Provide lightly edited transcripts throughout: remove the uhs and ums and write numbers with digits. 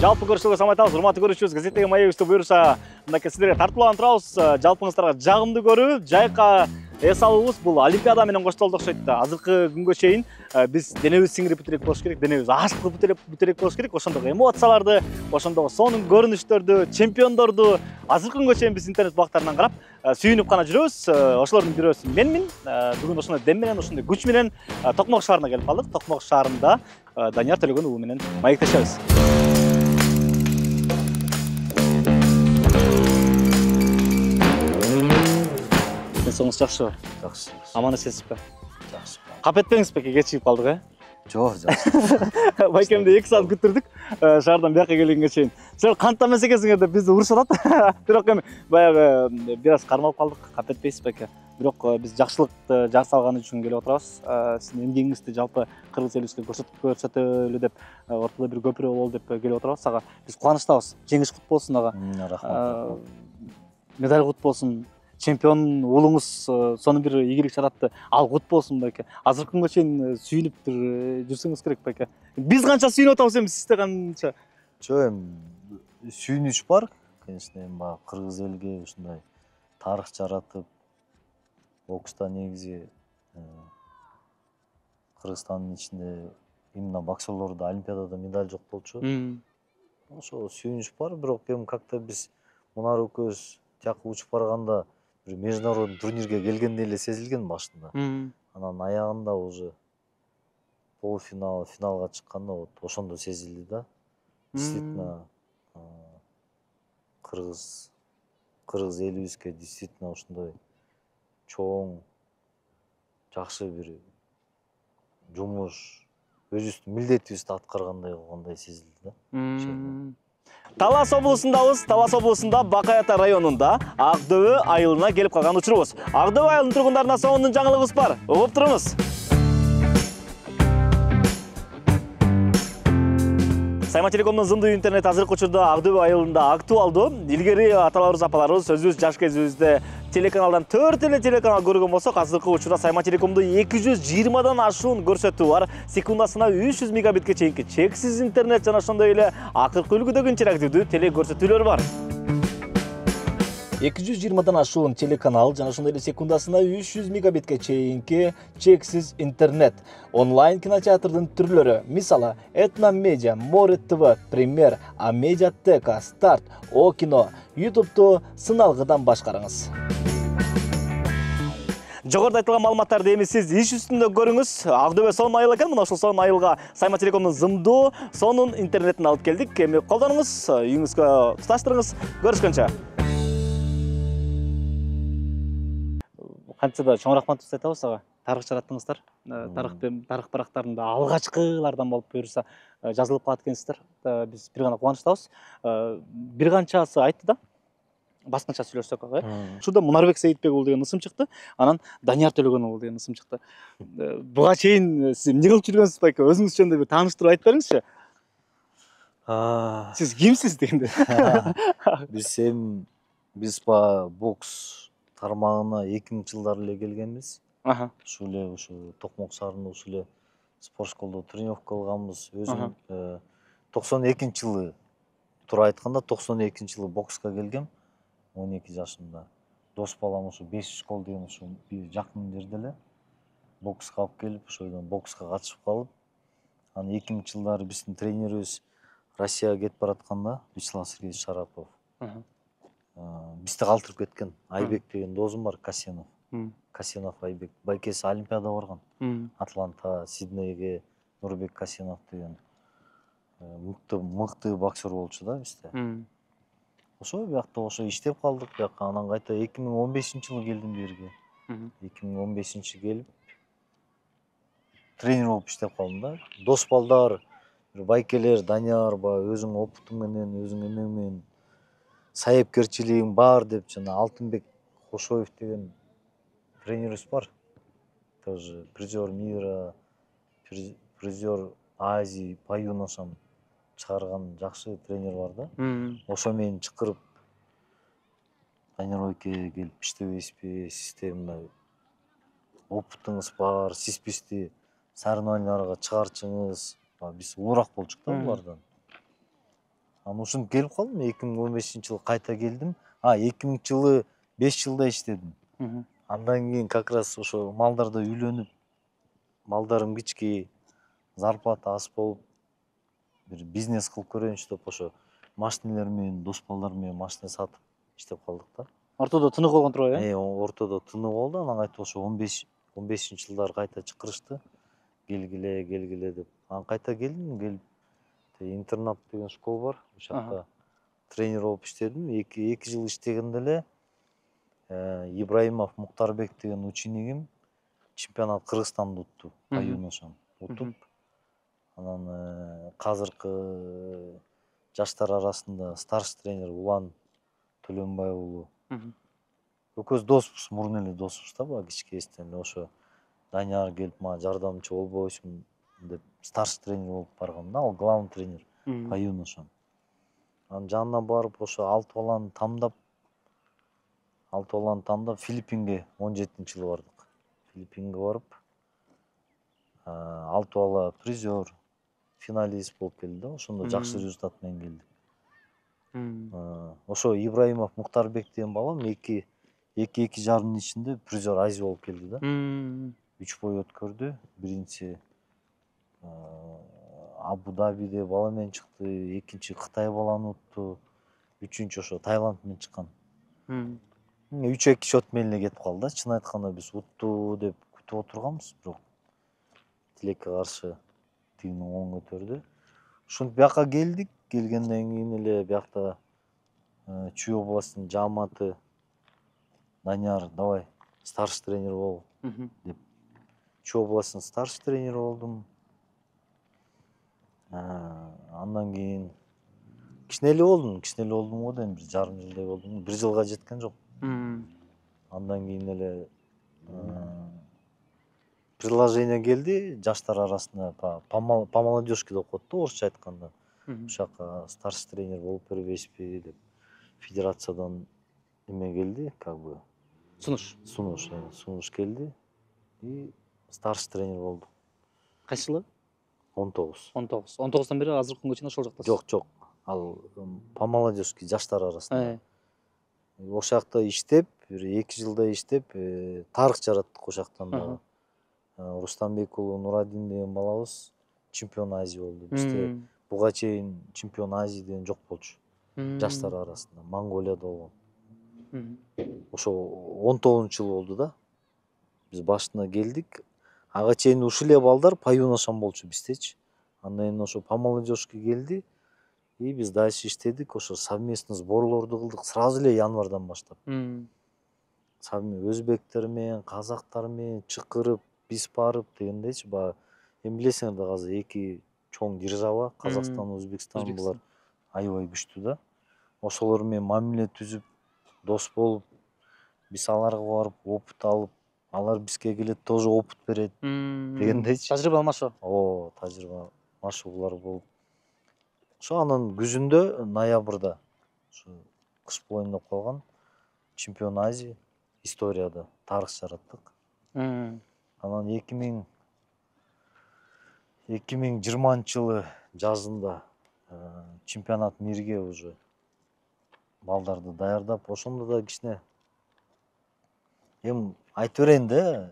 Жалпы көрүшүлгө салам айтабыз. Урматтуу көрүүчүбүз, газеттеги маегибизде буюрса, мынакей сиздерге тартууланып турабыз. Жалпыңыздарга жагымдуу көрүү, жайка эс алуубуз бул Олимпиада менен коштолду окшойт. Азыркы күнгө чейин биз денебиз сиңирип бүтүрөк болуш керек, денебиз ашык бүтүрөк болуш керек. Ошондогу эмоцияларды, ошондогу сонун көрүнүштөрдү, чемпиондорду азыркы күнгө чейин биз интернет бактарынан карап сүйүнүп гана жүрөбүз. Ошолордун бирөөсү менмин. Бүгүн ошондой дем менен, ошондой күч менен Токмок шаарына келип калдык. Токмок шаарында Данияр Төлөгөн уулу менен маектешебиз. Соңуз жакшыбы? Жакшы. Аман эсенсизби? Жакшы. Кап этпеңизби, кечигип калдык, Жок, жакшы. Байкемди 2 саат күттүрдүк, шаардан бияка келгенге чейин. Силер кантта эмес экенсиңер деп бизди урушуп атат. Бирок эми баягы бир аз кармалып калдык, кап этпейсиз байке. Бирок биз жакшылыкты жасалганы үчүн келип отурабыз. Сиздин эмгегиңизди жалпы кыргыз элибизге көрсөтөлү деп, ортодо бир көпүрө бололу деп келип отурабыз. Ага биз кубанычтабыз. Жеңиш кут болсун ага. Рахмат. Медаль кут болсун. Чемпион уулуңуз сонун бир ийгилик чаратты. Ал кут болсун байке. Азыркы күнгө чейин сүйүнүп бир жүрсөңүз керек байке. Биз канча сүйүнүп атабыз эми, сизде канча? Жок, эми сүйүнүч бар. Конечно, эми баягы кыргыз элге ушундай тарых жаратып, бокста негизи Кыргызстандын ичинде именно боксерлордо Олимпиадада медаль жок болчу. Ошо сүйүнүч бар, бирок эми как-то биз Мунар экөөбүз тияка учуп барганда бир международный турнирге келгендей эле сезилген башында. Анан аягында уже полуфинал, финалга чыкканда вот ошондо сезилди да. Действительно кыргыз элибизге действительно ошондой чоң, жакшы бир жумуш, өзүбүздүн милдетибизди аткаргандай кылгандай сезилди да. Талас облусундабыз. Талас облусунда Бакай Ата районунда Ак Дөбө айылына келип калган учурубуз. Ак Дөбө айылынын тургундарына сонун жаңылыгыбыз бар. Угуп туруңуз. Сайма Телекомдун зымдуу интернет азыркы учурда Ак Дөбө айылында актуалдуу. Илгери аталарыбыз, апаларыбыз өзүбүз жаш кезибизде телеканалдан 4 эле телеканал көргөн болсок, азыркы учурда Сайма Телекомдо 220дан ашуун көрсөтүү бар. Секундасына 300 мегабитке чейинки чексиз интернет жана ошондой эле акыркы үлгүдөгү интерактивдүү теле көрсөтүүлөр бар. 220дан ашуун телеканал жана ошондой эле секундасына 300 мегабитке чейинки чексиз интернет. Онлайн кинотеатрдын түрлөрү, мисалы, Этно Медиа, Море ТВ, Премьер, Амедиатека, Старт, О кино, YouTube'ду сыналгыдан башкарыңыз. Жогоруда айтылган маалыматтарды эми сиз иш үстүндө көрүңүз. Ак Дөбө сонун айыл экен. Мына ушул сонун айылга Сайма Телекомдун зымдуу сонун интернетин алып келдик. Эми колдонуңуз, үйүңүзгө туташтырыңыз. Көрүшкөнчө. Канча да чоң рахматыбызды айтабыз ага. Тарых жараттыңыздар. Тарых барактарында алгачкылардан болуп буюрса жазылып калат экенсиздер. Биз бир гана кубанычтабыз. Бир канчасы айтты да. Баскача сүйлөшсөк, Учурда Мунарбек Сейитбек уулу деген ысым чыкты. Анан Данияр Төлөгөн уулу деген ысым чыкты. Буга чейин сиз эмне кылып жүргөнсүз байке? Өзүңүз жөнүндө бир тааныштырып айтып бериңизчи. Сиз кимсиз дегенде? Биз бокс тармагына 2000-жылдары эле келгенбиз. Ушул эле Токмок шаарында ушул эле спорт школдо тренировка кылганбыз. Өзүм 92-жылы туура айтканда 92-жылы бокска келгем. 12 жашымда. Дос балам ушу 5 школ деген ушу жакын жерде эле бокска алып келип, ошойдон бокска катышып калып, анан 2000-жылдары биздин тренерибиз Россияга кетип баратканда, Вячеслав Сергеевич Шарапов. Бизди калтырып кеткен. Айбек деген досум бар, Касенов. Касенов Айбек. Байкеси Олимпиада барган. Атланта, Сиднейге Нурбек Касенов деген мыкты боксер болчу да бизде. Ошо биякта ошо иштеп калдык биякка. Анан кайта 2015-жылы келдим жерге. 2015 келип тренер болуп иштеп калдым да. Дос балдар, байкелер, Данияр өзүң опытың менен, өзүң эмең менен сайыпкерчилигиң бар деп жана Алтынбек Кошоев деген тренерибиз бар. Тоже призер мира, призер Азии по юношам чыгарган жакшы тренер бар да. Ошо менен чакырып Данияр байке келип иштебейсизби, сизде мындай опытыңыз бар, сиз бизди соревнованияларга чыгарчыңыз. Биз улуурак болчук да булардан. Анан ушинтип келип калдым. 2015-жылы кайта келдим. 2000-жылы 5 жылда иштедим. Андан кийин как раз ошо малдарда үйлөнүп, малдарым кички, зарплата аз болуп, бир бизнес кылып көрөйүнчү деп ошо машиналар менен, дос балдар менен машина сатып иштеп калдык да. Ортодо тынык болгон турбайбы, э? Ортодо тынык болду. Анан кайта ошо 15-жылдары кайта чакырышты. Келгиле деп. Анан кайта келдим, интернат деген школа бар. Ошол жакта тренер болуп иштедим. 2 жыл иштегенде эле Ибраимов Муктарбек деген учениким чемпионат Кыргызстанды утту. По юношам утуп. Анан казыркы жаштар арасында старший тренер Улан Төлөнбай уулу. Экөөбүз доспуз, мурун эле доспуз да, баягы кичкестен. Ошо Данияр келип мага жардамчы болбойсуң деп старший тренер болуп баргам да, ал главный тренер по юношам. Анан жанына барып ошо 6 баланы тамдап Филиппинге 17-жылы бардык. Филиппинге барып 6 бала призер, финалист болуп келди да. Ошондо жакшы результат менен келди. Ошо Ибраимов Муктарбек деген балам 2-2,5 жылдын ичинде призер Азия болуп келди да. 3 бой өткөрдү. Биринчи Абу-Дабиде бала менен чыкты, экинчи Кытай баланы утту, үчүнчү ошо Таиланд менен чыккан. 3-2 счет менен эле кетип калды да. Чын айтканда биз утту деп күтүп отурганбыз, бирок Тилекке каршы тигини оң көтөрдү. Ушинтип бияка келдик. Келгенден кийин эле биякта Чүй областынын жааматы Данияр, давай старший тренер бол деп. Чүй областынын старший тренер болдум. Андан кийин кичине эле болдум го да, бир жарым жылдай болдум. 1 жылга жеткен жок. Андан кийин эле предложение келди жаштар арасында, по молодежке деп коет да, орусча айтканда. Ошол жака старший тренер болуп бербейсизби деп федерациядан эме келди, как бы сунуш келди и старший тренер болдум. Кайсы жылы? 19. 19тон бери азыркы күнгө чейин ошол жактасыз? Жок. Ал по молодежке жаштар арасында. Ошол жакта иштеп, бир 2 жылдай иштеп, тарых жараттык ошол жактан да. Рустамбек уулу Нурадин деген балабыз чемпион Азия болду. Бизде буга чейин чемпион Азия деген жок болчу. Жаштар арасында Монголияда болгон. Ошо 19-жылы болду да. Биз башында келдик. Ага чейин ушул эле балдар по юношам болчу биздечи. Андан кийин ошо по молодежке келди. И биз дальше иштедик. Ошо совместный сборлорду кылдык сразу эле январдан баштап. Өзбектер менен, казактар менен чакырып, биз барып дегендейчи. Эми билесиңер да, азыр 2 чоң держава, Казакстан, Өзбекстан, булар аябай күчтүү да. Ошолор менен мамиле түзүп, дос болуп, биз аларга барып, опыт алып, алар бизге келет, тоже опыт берет дегендейчи. Тажрыйба алмашуу. Тажрыйба алмашуулар болуп. Ошо анан күзүндө, ноябрда, ушу кыш боюн деп калган чемпион Азия историяда тарых жараттык. Анан 2020-жылы жазында чемпионат мирге уже балдарды даярдап, ошондо да кичине эми айтып берейин да.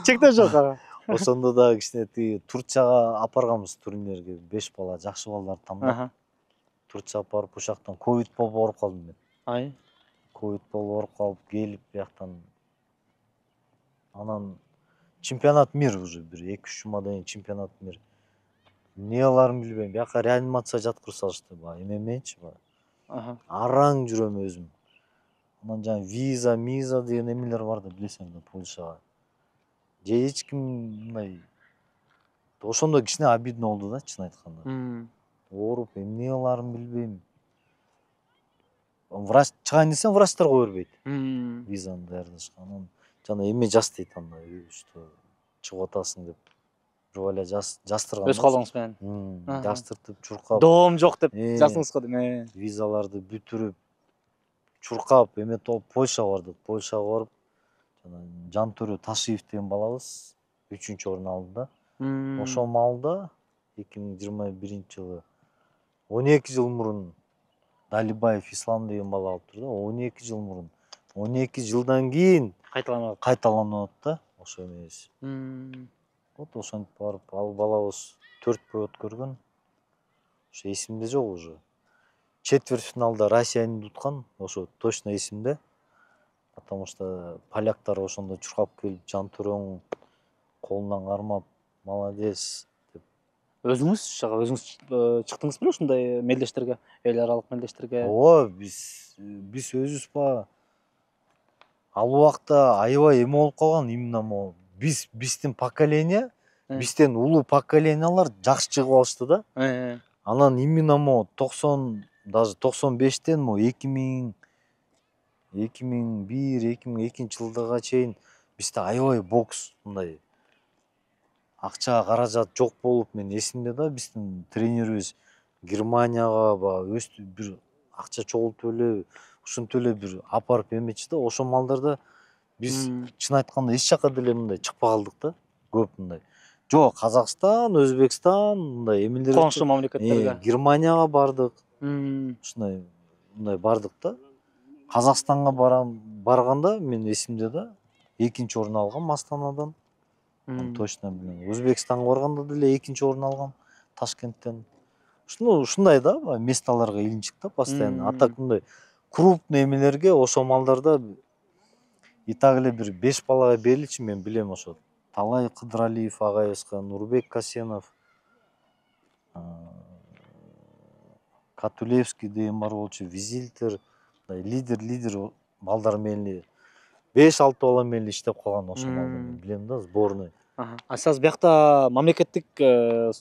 Чектөө жок ага. Ошондо да кичине тиги Турцияга апарганбыз турнирге, 5 бала, жакшы балдарды тамдап. Турцияга барып, ошол жактан ковид болуп ооруп калдым мен. Ковид болуп ооруп калып, келип бияктан анан чемпионат мир уже бир 2-3 жумадан кийин чемпионат мир. Эмне кыларын билбейм, бияка реанимация жаткырып салышты, баягы эме мененчи, араң жүрөм өзүм. Анан жана виза деген эмелер бар да, билесиңер да, Польшага. Же эч ким мындай. Ошондо кичине обидно болду да, чын айтканда. Ооруп, эмне кыларын билбейм. Врач чыгайын десем, врачтар кое бербейт. Визаны даярдашка. Анан жана эме жаз дейт анда, что чыгып атасың деп. Бир бала жастырган. Өз колуңуз менен. Жастыртып, чуркап. Доом жок деп жаздыңыз го дейм. Визаларды бүтүрүп, чуркап, эме топ Польшага бардык. Польшага барып, жана Жантөрө Ташиев деген балабыз 3-орун алды да. Ошол маалда 2021-жылы 12 жыл мурун Далибаев Ислам деген бала алыптыр да, 12 жыл мурун. 12 жылдан кийин кайталанып да, ошо эмес. Вот ошентип барып, ал балабыз 4 бой өткөргөн. Ошо эсимде жок уже. Четвертьфиналда Россияны уткан, ошо точно эсимде. Потому что поляктар ошондо чуркап келип, Жантөрөң колунан кармап, молодец деп. Өзүңүз чыктыңыз беле ушундай мелдештерге, эл аралык мелдештерге? Ооба, биз өзүбүз ба ал убакта аябай эме болуп калган, именно могу биздин поколение, бизден улуу поколениялар жакшы чыгып алышты да. Анан именно могу 90, даже 95тен могу 2000, 2001, 2002 жылдарга чейин бизде аябай бокс мындай акча каражат жок болуп, мен эсимде да, биздин тренерибиз Германияга өстү бир акча чогултуп эле, ушинтип эле бир апарып эметчи да. Ошол малдарда биз чын айтканда эч жака деле мындай чыкпай калдык да, көп мындай. Жок, Казакстан, Өзбекстан мындай эмелер, коңшу мамлекеттерге, Германияга бардык. Ушундай мындай бардык да. Казакстанга барганда мен эсимде да, 2-чи орун алгам Астанадан. Точно билем. Өзбекстанга барганда деле 2-чи орун алгам Ташкенттен. Ушундай да, месталарга илинчик да постоянно. А так мындай крупный эмелерге ошол малдарда и так эле бир 5 балага бериличи, мен билем ошо. Талай Кыдыралиев агайыбызга, Нурбек Касенов, Катулевский деген бар болчу, Визильтер, лидер балдар менен 5-6 бала менен иштеп калган ошол малдар, билем да, сборный. А сиз биякта мамлекеттик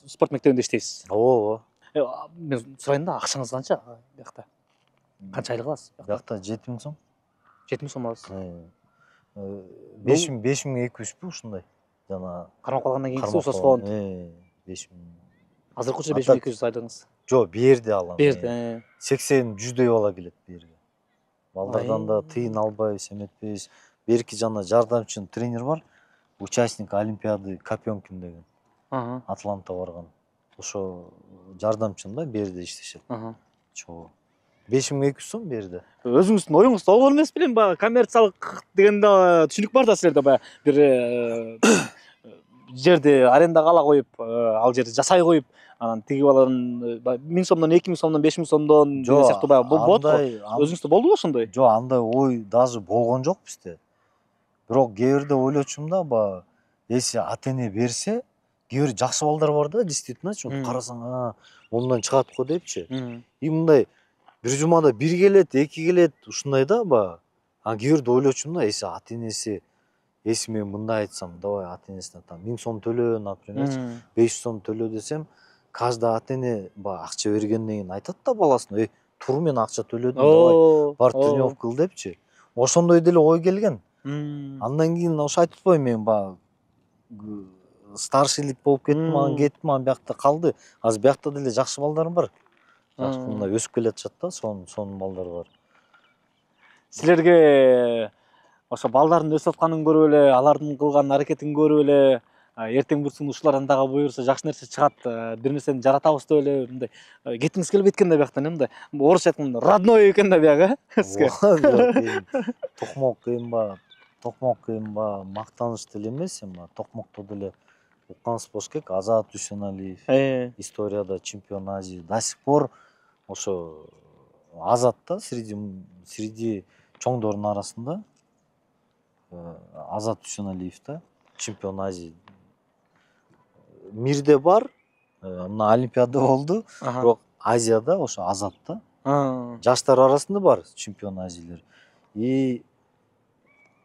спорт мектебинде иштейсиз? Ооба. Мен сурайын да, акчаңыз канча биякта? Канча айлык аласыз? Биякта 7000 сом. 7000 сом аласыз. 5200 ушундай. Жана кармап калгандан кийинкиси ушул фонд. 5000. Азыркыча 5200 айлыгыңыз. Жок, берди алам. Берди. 80-100дөй бала келет берге. Балдардан да тыйын албайбыз, эметпейбиз. Берки жана жардамчы тренер бар, участник Олимпиады Копенкин деген. Атланта барган. Ошо жардамчым да, берди иштешет. Чоо. 5200 сом берди. Өзүңүздүн оюңуз болгон эмес белем, баягы коммерциялык дегенде түшүнүк бар да силерде, баягы бир жерди арендага ала коюп, ал жерди жасай коюп, анан тиги баланын 1000 сомдон, 2000 сомдон, 5000 сомдон деген сыяктуу баягы болот го. Өзүңүздө болдубу ошондой? Жок, андай ой даже болгон жок бизде. Бирок кээ бирде ойлочумун да, баягы если ата-эне берсе, кээ бир жакшы балдар бар да, действительно, карасаң, мондан чыгат го депчи. И мындай бир жумада 1 келет, 2 келет, ушундай да баягы. А кээ бирде ойлочумун да, если ата-энеси, если мен мындай айтсам, давай ата-энесине там 1000 сом төлө, например, 500 сом төлө десем, каждый ата-эне баягы акча бергенден кийин айтат да баласына, тур мен акча төлөдүм, давай бар тренировка кыл депчи. Ошондой деле ой келген. Андан кийин ошо айтып атпайбы, мен баягы старшийлик болуп кеттим, анан кеттим, анан биякта калды. Азыр биякта деле жакшы балдар бар. Жакшы мындай өсүп келатышат да, сонун балдар бар. Силерге ошо балдардын өсүп атканын көрүп эле, алардын кылган аракетин көрүп эле, эртең бурсун ушулардан дагы буюрса жакшы нерсе чыгат, бир нерсени жаратабыз деп эле мындай кетиңиз келбейт экен да биякта, мындай орусча айтканда родной экен да бияк, сизге. Токмок эми мактаныч деле эмес, эми Токмокто деле уккансыз болуш керек. Азат Дүйсеналиев, историяда чемпион Азии. До сих пор ошо Азат да, среди чоңдордун арасында Азат Дүйсеналиев да, чемпион Азии. Мирде бар, мына Олимпиада болду, бирок Азияда ошо Азат да. Жаштар арасында бар чемпион Азиялар. И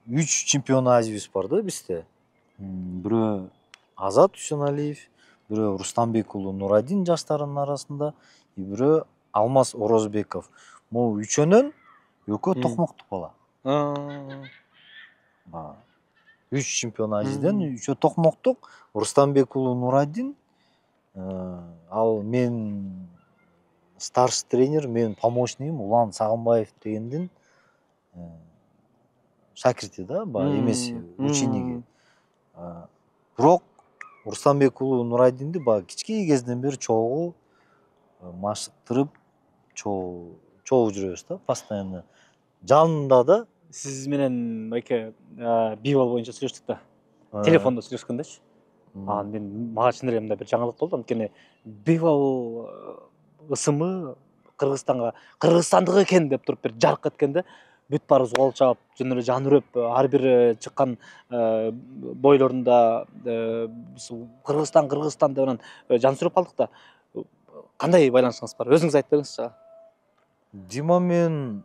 3 чемпион Азиябыз бар да бизде. Бирөө Азат Дүйсеналиев, бирөө Рустамбек уулу Нурадин жаштарынын арасында, и бирөө Алмаз Орозбеков. Могу үчөөнөн экөө Токмоктук бала. 3 чемпион Азиядан, үчөө Токмоктук, Рустамбек уулу Нурадин, ал мен старший тренер, мен помощнигим Улан Сагынбаев дегендин шакирти да, эмеси, учениги. Бирок Рустамбек уулу Нурадинди кички кезден бери чогуу машыктырып чогуу жүрөбүз да постоянно. Жанында да Сиз менен байке бейбол боюнча сүйлөштүк да. Телефондо сүйлөшкөндечи. Мага чын эле мындай бир жаңылык болду. Анткени бейбол ысымы Кыргызстандык экен деп туруп бир жарк эткенде бүт баарыбыз кол чаап, жөн эле жан үрөп, ар бир чыккан бойлорунда Кыргызстан деп анан жан сүрөп калдык да. Кандай байланышыңыз бар? Өзүңүз айтып бериңизчи. Дима менен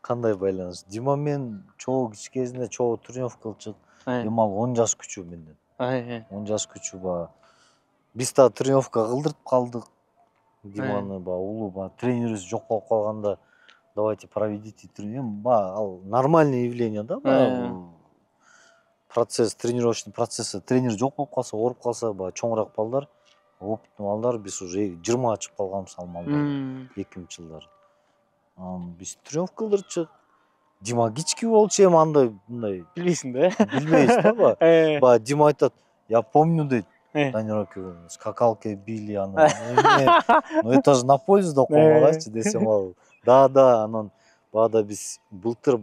кандай байланыш? Дима менен чогуу кичи кезинде чогуу тренировка кылчык. Эми ал 10 жаш күчүү менден. 10 жаш күчүү баягы. Биз да тренировка кылдырып калдык. Диманы улуу тренерибиз жок болуп калганда давайте проведите тренировку. Ал нормальный явление да. Процесс, тренировочный процесс. Тренер жок болуп калса, ооруп калса, чоңураак балдар, опыттуу балдар, биз уже 20 чыгып калганбыз ал малдар 2000-жылдары. Биз тренировка кылдырчык. Дима кички болчу, эми андай мындай Билбейсиң да? Билбейбиз да. Дима айтат, я помню дейт. Тренировка скакалка били аны. Ну это же на пользу да колмагайчы десем ал. Да, анан баада биз былтыр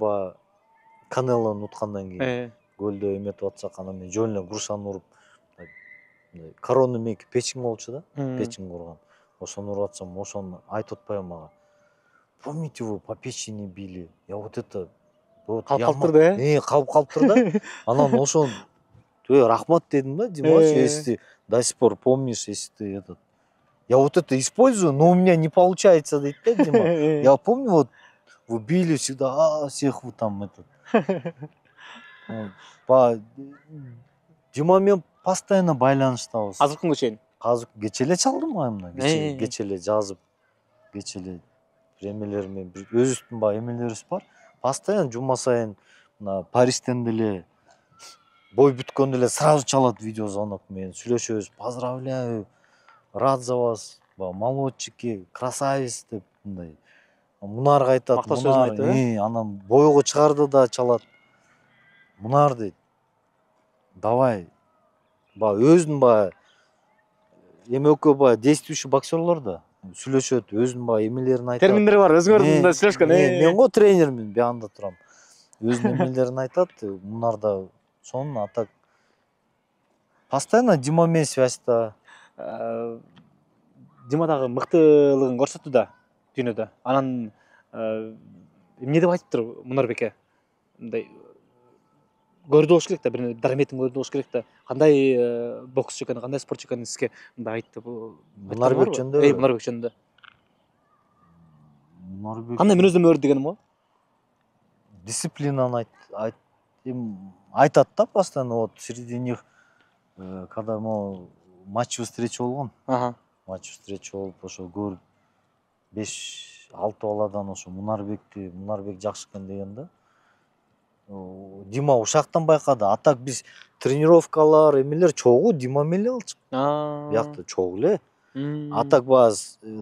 Канелону уткандан кийин гөлдө эметип атсак, анан мен жөн эле грушаны уруп, коронный мейки печень болчу да, печень курган. Ошону уруп атсам, ошону айтып атпайбы мага. Помните, вы по печени били? Я вот это калып турду, калып турду да. Анан ошону рахмат дедим да, Димаш, если ты до сих пор помнишь, если ты этот. Я вот это использую, но у меня не получается, дейт да, Дима. Я помню, вот вы били всегда, всех вы там этот. Дима менен постоянно байланыштабыз. Азыркы күнгө чейин. Азыр кече эле чалдым мына. Кече эле жазып, кече эле эмелер менен өзүбүздүн эмелерибиз бар. Постоянно жума сайын мына Парижден деле бой бүткөндө эле сразу чалат видеозвонок менен сүйлөшөбүз. Поздравляю, рад за вас, молодчики, красавец деп мындай. Мунарга айтат, Мактоо сөзүн айтты. Анан бойго чыгарды да чалат. Мунар дейт. Давай. Өзүнүн эме экөө действующий боксерлор да сүйлөшөт, өзүнүн эмелерин айтат. Терминдери бар, өзүңөрдүн да сүйлөшкөн. Мен го тренермин, баанда турам. Өзүнүн эмелерин айтат. Мунар да сонун, а так постоянно Дима менен связьта. Дима дагы мыктылыгын көрсөттү да дүйнөдө. Анан эмне деп айтыптыр Мунарбеке? Мындай көрдү болуш керек да, бир дараметин көрдү болуш керек да. Кандай боксчу экен, кандай спортчу экенин сизге мындай айтты. Мунарбек жөнүндө. Мунарбек жөнүндө. Мунарбек Кандай мүнөздөмө бар дегеним го? Дисциплинаны айтат да постоянно. Вот среди них, когда матчевый встреча болгон. Матч встреча болуп, ошо көрүп 5-6 баладан ошо Мунарбек жакшы экен деген да. Дима ушактан байкады. А так биз тренировкалар, эмелер чогуу Дима менен эле алчык. Биякта чогуу эле. А так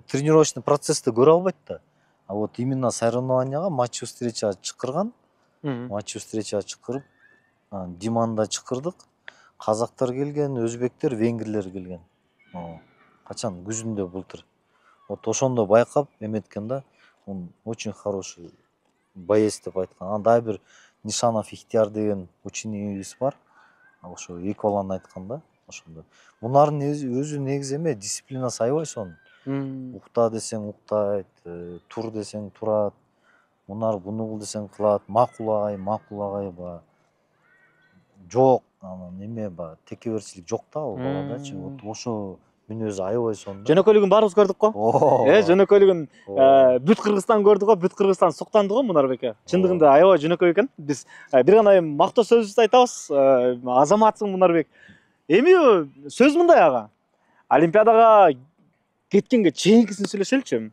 тренировочный процессти көрө албайт да. А вот именно соревнованияга матч встреча чакырган. Матч встреча чакырып, Диманы да чакырдык. Казактар келген, өзбектер, венгрлер келген. Качан күзүндө былтыр. Вот ошондо байкап эметкен да. Он очень хороший боец деп айткан. Анан дагы бир Нишанов Ихтияр деген ученикибиз бар. Ошо эки баланы айткан да. Ошондо. Мунардын өзү негизи эме дисциплинасы аябай сонун. Укта десең уктайт, тур десең турат. Мунар буну кыл десең кылат. Макул агай жок, анан эме текеберчилик жок да ал баладачы. Вот ошо мүнөзү аябай сонун. Жөнөкөйлүгүн баарыбыз көрдүк го. Жөнөкөйлүгүн бүт Кыргызстан көрдү го, бүт Кыргызстан суктанды го Мунарбеке. Чындыгында аябай жөнөкөй экен. Биз бир гана мактоо сөзүбүздү айтабыз. Азаматсың Мунарбек. Эми сөз мындай ага. Олимпиадага кеткенге чейинкисин сүйлөшөлүчү.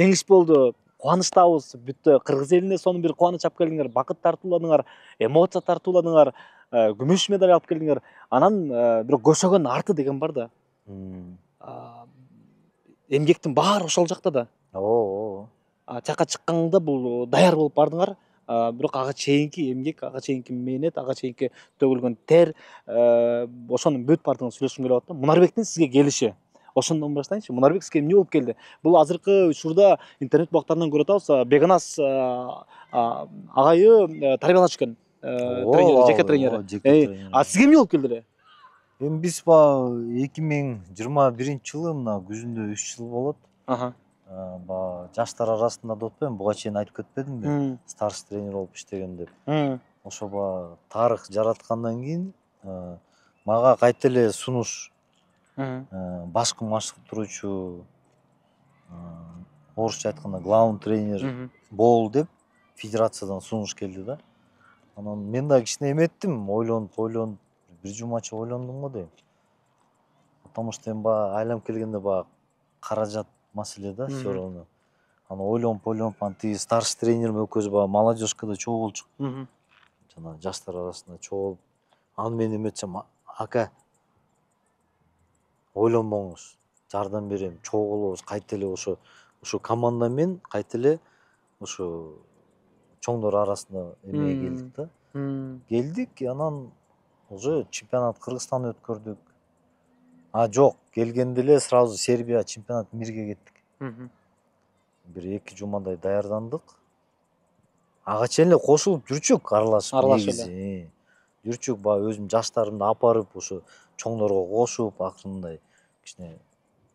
Жеңиш болду. Кубанычтабыз. Бүт кыргыз элине сонун бир кубаныч алып келдиңер, бакыт тартууладыңар, эмоция тартууладыңар, күмүш медаль алып келдиңер. Анан бирок көшөгөн арты деген бар да. Эмгектин баары ошол жакта да. Жакка чыкканда бул даяр болуп бардыңар. Бирок ага чейинки эмгек, ага чейинки мээнет, ага чейинки төгүлгөн тер, ошонун бүт баардыгын сүйлөшкүм келип атат да. Мунарбектин сизге келиши. Ошондон баштайынчы. Мунарбек сизге эмне болуп келди? Бул азыркы учурда интернет бактарынан көрүп атабыз, Беканас агайы тарбиялачу экен. Тренер, жеке тренери. А сизге эмне болуп келди эле? Эми биз баягы 2021-жылы мына күзүндө 3 жыл болот. Баягы жаштар арасында деп атпаймынбы, буга чейин айтып кетпедимби? Старший тренер болуп иштеген деп. Ошо баягы тарых жараткандан кийин мага кайта эле сунуш башкы машыктыруучу, орусча айтканда главный тренер бол деп федерациядан сунуш келди да. Анан мен да кичине эметтим, ойлонуп, бир жумача ойлондум го дейм. Потому что эми баягы айланып келгенде баягы каражат маселе да, всё равно. Анан ойлонуп, анан тиги старший тренерим экөөбүз баягы молодежкада чогуу болчук. Жана жаштар арасында чогуу болуп, аны мен эметсем, ака ойлонбоңуз, жардам берем, чогуу болобуз, кайта эле ошо командамен кайта эле ошо чоңдор арасында эмеге келдик да. Келдик, анан уже чемпионат Кыргызстанда өткөрдүк. Жок, келгенде эле сразу Сербия чемпионат мирге кеттик. Бир 2 жумадай даярдандык. Ага чейин эле кошулуп жүрчүк, аралашып негизи. Жүрчүк, баягы өзүм жаштарымды апарып, ошо чоңдорго кошуп, акырындай кичине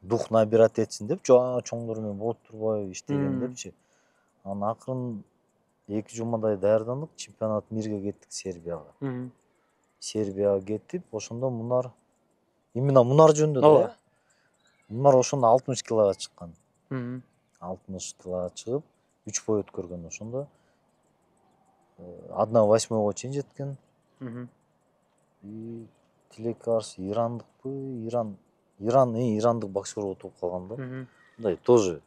дух набирать этсин деп, чоңдор менен болот турбайбы иштеген депчи. Анан акырын 2 жумадай даярдандык, чемпионат мирге кеттик Сербияга. Сербияга кеттип, ошондо Мунар именно Мунар жөнүндө да. Мунар ошондо 60 килога чыккан. 60 килога чыгып, 3 бой өткөргөн ошондо. 1/8 чейин жеткен. Тилекке каршы ирандыкпы, ирандык боксер утуп калган да. Мындай тоже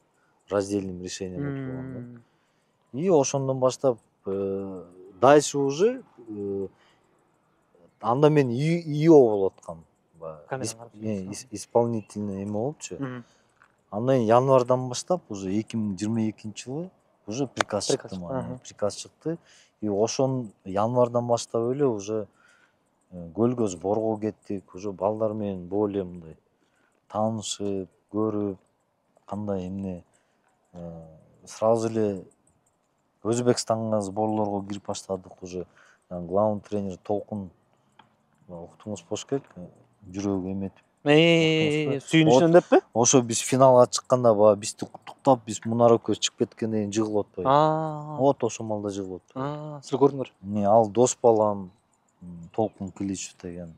раздельным решением утуп калган да. И ошондон баштап дальше уже анда мен ИО болуп аткам. Исполнительный эме болупчу. Андан кийин январдан баштап уже 2022-жылы уже приказ чыкты. Приказ чыкты. И ошон январдан баштап эле уже көлгө сборго кеттик. Уже балдар менен более мындай таанышып, көрүп, кандай эмне сразу эле Өзбекстанга сборлорго кирип баштадык уже. Главный тренер Толкун уктуңуз болуш керек, жүрөгү эметип. Сүйүнүчүнөн деппи? Ошо биз финалга чыкканда баягы бизди куттуктап, биз Мунар экөөбүз чыгып кеткенден кийин жыгылып атпайбы? Вот ошол малда жыгылып атпайбы? Сиз көрдүңөр. Ал дос балам Толкун Кличев деген.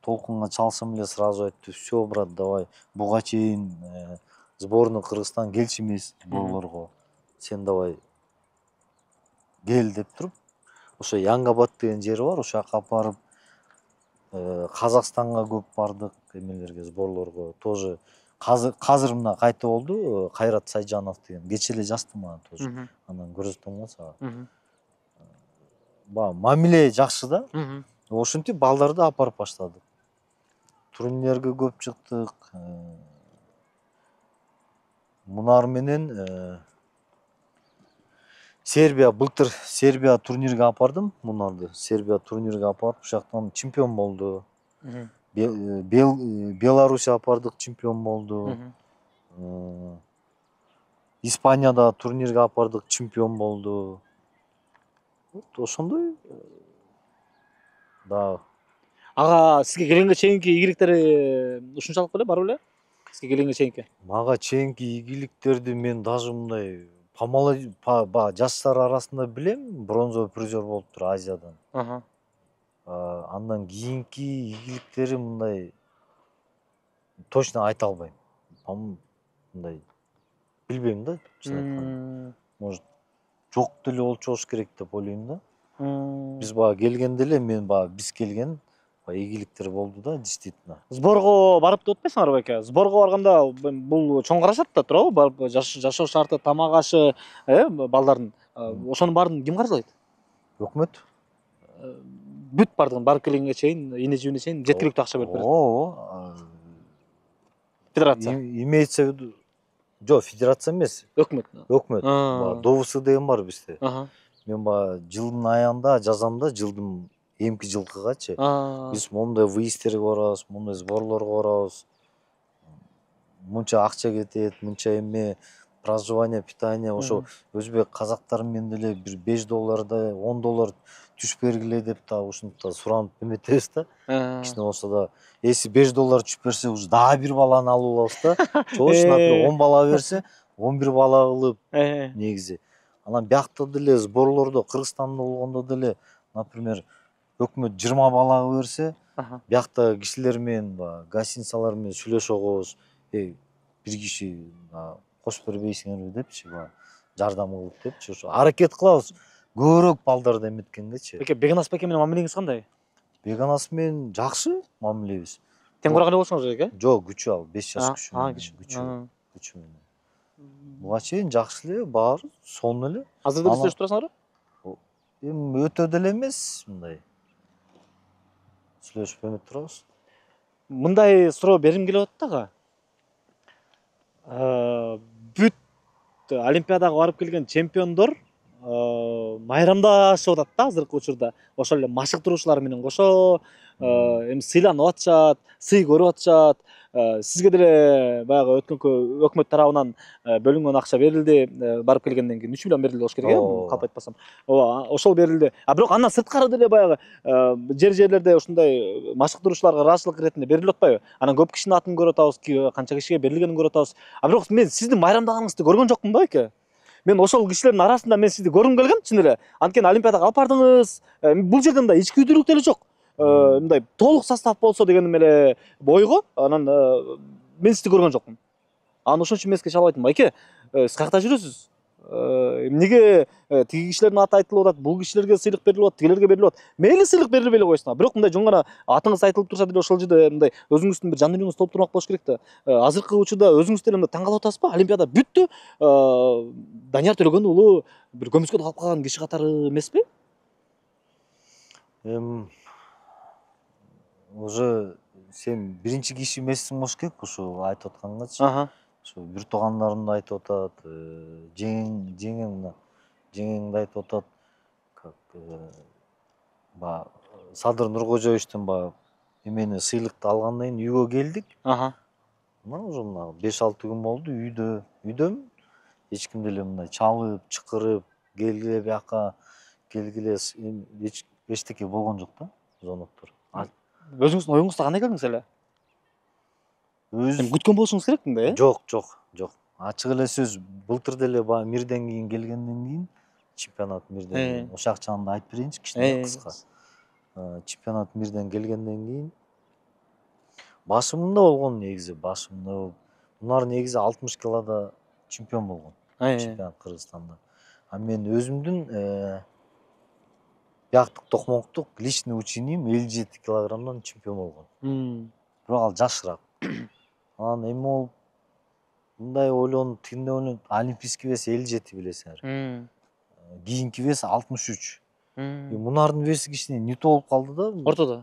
Толкунга чалсам эле сразу айтты: "Всё, брат, давай. Буга чейин сборный Кыргызстан келчү эмес сборлорго. Сен давай кел" деп туруп, ошо Янгабад деген жери бар, ошол жака апарып, Казакстанга көп бардык, эмелерге, сборлорго. Тоже азыр мына кайта болду, Кайрат Сайжанов деген. Кечээ эле жазды мага тоже. Анан көрсөтөм го сага. Баягы мамиле жакшы да. Ошентип балдарды апарып баштадык. Турнирлерге көп чыктык. Мунар менен былтыр Сербия турнирге апардым Мунарды. Сербия турнирге апарып, ошол жактан чемпион болду. Беларусия апардык, чемпион болду. Испанияда турнирге апардык, чемпион болду. Вот ошондой. Да. Ага, сизге келгенге чейинки ийгиликтери ушунчалык беле, бар беле? Сизге келгенге чейинки. Мага чейинки ийгиликтерди мен даже мындай жаштар арасында билем, бронзовый призер болуптур Азиядан. Андан кийинки ийгиликтери мындай точно айта албайм. Мындай билбейм да, чын айтканда. Может, жок деле болчу керек деп ойлойм да. Биз келгенде эле биз келген ийгиликтер болду да, действительно. Сборго барып деп атпайсыңарбы беке? Сборго барганда бул чоң каражат да туурабы? Барып жашоо шарты, тамак ашы, балдардын. Ошонун баарын ким каржылайт? Өкмөт. Бүт бардыгын барып келгенге чейин, эне жибине чейин жеткиликтүү акча берип берет. Федерация. Имеется в виду. Жок, федерация эмес. Өкмөт. ДОВС деген бар бизде. Мен жылдын аягында жазам да, эмки жылкыгачы. Биз мондай выездтерге барабыз, мондай сборлорго барабыз. мынча акча кетет, мынча эме проживание, питание, ошо өзбек казактар менен деле бир $5 $10 түшүп бергиле деп да ушинтип суранып эметебиз да. Кичине болсо да, если $5 түшүп берсе, уже дагы бир баланы алып алабыз да. Чош, например, 10 бала берсе, 11 бала кылып негизи. Анан биякта деле сборлордо, Кыргызстанда болгондо деле, например, өкмөт 20 балага берсе, биякта кишилер менен, гостиницалар менен сүйлөшө коебуз. Бир киши кошуп бербейсиңерби депчи, жардам кылып депчи. Ошо аракет кылабыз көбүрөөк балдарды эметкенгечи. Беке, Беканас беке менен мамилеңиз кандай? Беканас менен жакшы мамилебиз. Тең кураган эле болсоңуз керек, Жок, күчү ал, 5 жаш күчү. Буга чейин жакшы эле, баары сонун эле. Азыр деле сүйлөшүп турасыңарбы? Эми өтө деле эмес, мындай. Сүйлөшүп эметип турабыз. Мындай суроо бергим келип атат бүт Олимпиадага барып келген чемпиондор майрамдашып атат да азыркы учурда. Ошол эле машыктыруучулар менен кошо эми сыйланып атышат, сый көрүп атышат. Сизге деле баягы өткөнкү өкмөт тарабынан бөлүнгөн акча берилди, барып келгенден кийин 3 миллион берилди болуш керек, калп айтпасам. Ооба, ошол берилди. Бирок андан сырткары деле баягы жерлерде ушундай машыктыруучуларга ыраазычылык иретинде берилип атпайбы? Анан көп кишинин атын көрүп атабыз, канча кишиге берилгенин көрүп атабыз. Бирок мен сиздин майрамдаганыңызды көргөн жокмун да, беке. Мен ошол кишилердин арасында мен сизди көргүм келген, чын эле. Анткени Олимпиадага алып бардыңыз. Бул жерде мындай ички күйдүрүк деле жок. Мындай толук состав болсо дегеним эле ойго. Анан мен сизди көргөн жокмун. Анан ошон үчүн мен сизге чалып айттым, байке, сиз каякта жүрөсүз? Эмнеге тиги кишилердин аты айтылып атат, бул кишилерге сыйлык берилип атат, тигилерге берилип атат. Мейли сыйлык берилбей эле койсун. Бирок мындай жөн гана атыңыз айтылып турса деле ошол жерде мындай өзүңүздүн бир жан дүйнөңүз толуп турмак болуш керек да. Азыркы учурда өзүңүз деле мындай таң калып атасызбы? Олимпиада бүттү. Данияр Төлөгөн уулу бир көмүскө калып калган киши катары эмеспи? Уже сен биринчи киши эмессиң болуш керек ушу айтып аткангачы. Ошо бир туугандарымды айтып атат, жеңеңди айтып атат. Как Садыр Нуркожоевичтен эмени сыйлыкты алгандан кийин үйгө келдик. Мына уже 5-6 күн болду үйдөмүн. Эч ким деле мындай чалып, чакырып, келгиле бияка, келгиле эчтеке болгон жок да, звоноктор. Өзүңүздүн оюңузда кандай көрдүңүз эле? Күткөн болушуңуз керек мындай, Жок. Ачык эле сөз, былтыр деле мирден кийин келгенден кийин, чемпионат мирден кийин, ошак жагында айтып берейинчи кичине кыска. Чемпионат мирден келгенден кийин башымда болгон негизи, Мунар негизи 60 килода чемпион болгон. Чемпионат Кыргызстанда. Мен өзүмдүн бияктык токмоктук личный учением 57 килограммдан чемпион болгон. Бирок ал жашыраак. Анан эми болуп мындай ойлонуп, тигиндей ойлонуп, олимпийский вес 57 билесиңер. Кийинки вес 63. Мунардын веси кичине не то болуп калды да.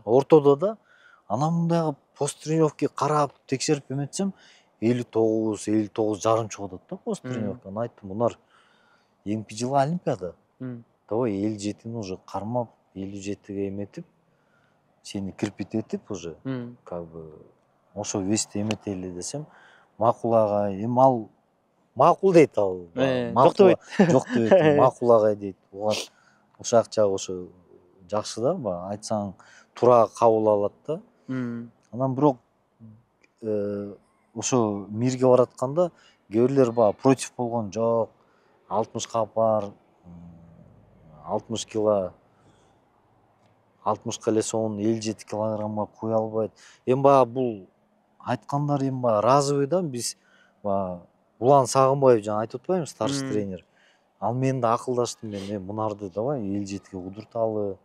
Ортодо да. Анан мындай пост тренировка карап, текшерип эметсем 59 жарым чыгып атат да пост тренировкадан. Айттым, Мунар, эмки жылы Олимпиада. Давай 57-ни уже кармап, 57-ге эметип, сени кирпитетип уже, как бы, ошо весте эметели десем, макул агай, эми ал макул дейт ал. Жок дебейт, макул агай дейт. Ушак жагы ошо жакшы да, айтсаң туура кабыл алат да. Анан бирок ошо мирге баратканда кээ бирлер против болгон, жок, 60ка бар, 60 кило, 60ка эле сонун 57 килограммга кое албайт. Эми бул айткандар эми разовый да, биз Улан Сагынбаев жана айтып атпаймынбы, старший тренер. Ал менен да акылдаштым мен, Мунарды давай 57ге кудурталы.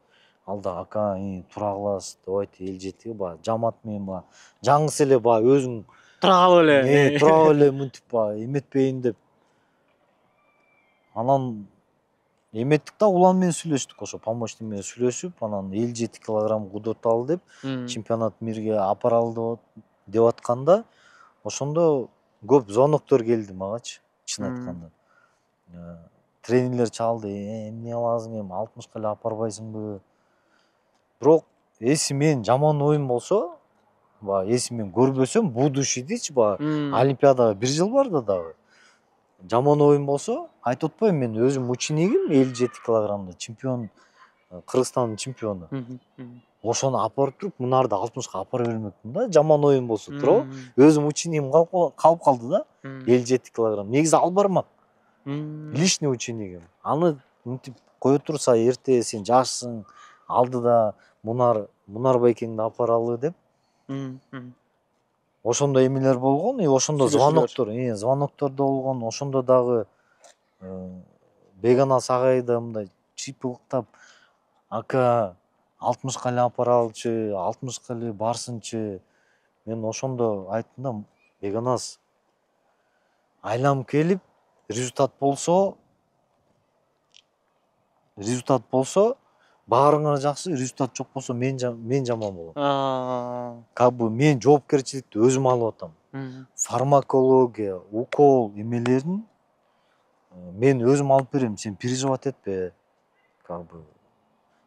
Ал да ака, туура кыласыз, давайте 57ге жамат менен жаңысы эле өзүң тура калып эле мынтип эметпейин деп. Анан эметтик да, Улан менен сүйлөштүк, ошо помощник менен сүйлөшүп, анан 57 килограмм кудурталы деп, чемпионат мирге апаралы деп атканда, ошондо көп звоноктор келди магачы, чын айтканда. Тренерлер чалды, эмне кыласың, эми 60ка эле апарбайсыңбы? Бирок, если менин жаман оюм болсо, баягы если мен көрбөсөм будущий дейчи баягы олимпиадага 1 жыл барды дагы. Жаман оюн болсо, айтып атпайм, мен өзүм учениким 57 килограммда чемпион, Кыргызстандын чемпиону. Ошону апарып туруп, мынарды 60ка апара бермекмин да, жаман оюн болсо, туурабы? Өзүм учениким калып калды да, 57 килограмм. Негизи ал бармак. Лишний учениким. Аны мынтип кое турса, эрте сен жашсың, алдыда Мунар байкеңди апаралы деп. Ошондой эмелер болгон, ошондо звоноктор да болгон. Ошондо дагы Беганас агайды мындай чыйпылыктап, ака 60ка эле апаралычы, 60ка эле барсынчы. Мен ошондо айттым да, Беганас айланып келип, результат болсо баарыңар жакшы, результат жок болсо мен жаман болом. Как бы мен жоопкерчиликти өзүм алып атам. Фармакология, укол эмелерин мен өзүм алып берем, сен переживать этпе. Как бы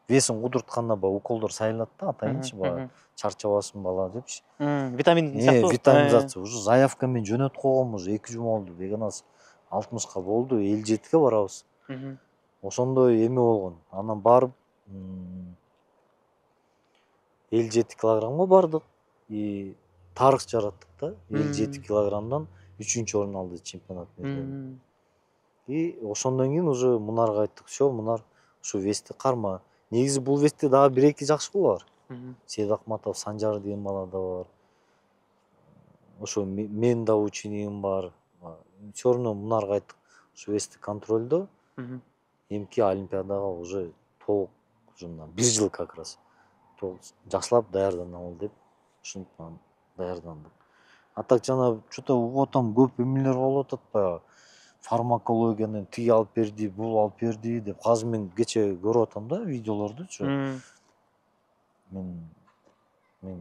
весиң кудуртканда баягы уколдор сайылат да, атайынчы баягы чарчабасын бала депчи. Витамин сыяктуу. Витаминизация. Уже заявка мен жөнөтүп койгом, уже 2 жума болду. Беганас 60ка болду, 57ке барабыз. Ошондой эме болгон. Анан барып 57 килограммга бардык. И тарых жараттык да. 57 килограммдан 3-орун алды чемпионат мезгилинде. И ошондон кийин уже Мунарга айттык, "Всё, Мунар, ушу вести карма". Негизи бул вести дагы 1-2 жакшы бала бар. Сейит Акматов, Санжар деген бала да бар. Ошо мен да учениким бар. Всё равно Мунарга айттык, ушу вести контролдо. Эмки олимпиадага уже толук, уже 1 жыл как раз жакшылап даярданалы деп ушинтип даярдандык. А так жана что-то угуп атам, көп эмелер болуп атат баягы. Фармакологияны тиги алып берди, бул алып берди деп. Азыр мен кече көрүп атам да видеолордучу. Мен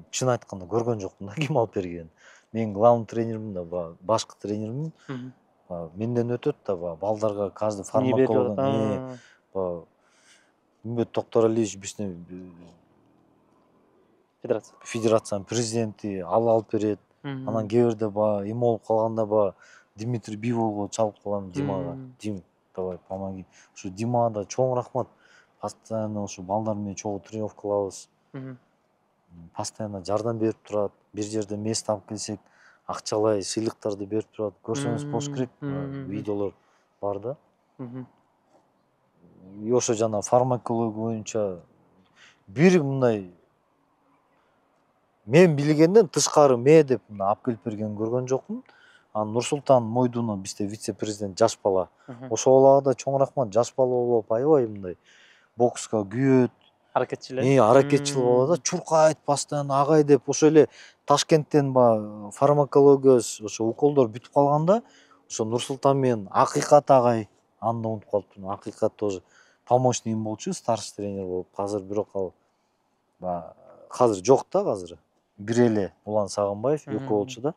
чын айтканда көргөн жокмун да ким алып бергенин. Мен главный тренермин да, башкы тренермин. Менден өтөт да балдарга каждый фармакологдун Үмбөт Токторалиевич биздин федерациянын президенти, ал алып берет. Анан кээ бирде эме болуп калганда Дмитрий Биволго чалып калам Димага. Дим, давай помоги. Ушу Димага да чоң рахмат. Постоянно ушу балдар менен чогуу тренировка кылабыз. Постоянно жардам берип турат. Бир жерде место алып келсек, акчалай сыйлыктарды берип турат. Көрсөңүз болуш керек, видеолор бар да. И ошо жана фармакология боюнча бир мындай мен билгенден тышкары деп алып келип берген көргөн жокмун. Нурсултан Мойдунов бизде вице-президент жаш бала. Ошо балага да чоң рахмат. Жаш бала болуп аябай мындай бокска күйөт, аракетчил бала да, чуркайт постоянно агай деп. Ошо эле Ташкенттен фармакология ошо уколдор бүтүп калганда, ошо Нурсултан менен Акыйкат агай, аны да унутуп калыптырмын. Акыйкат тоже помощнигим болчу, старший тренер болуп. Азыр бирок ал азыр жок да, азыр. Бир эле Улан Сагынбаев экөө болчу да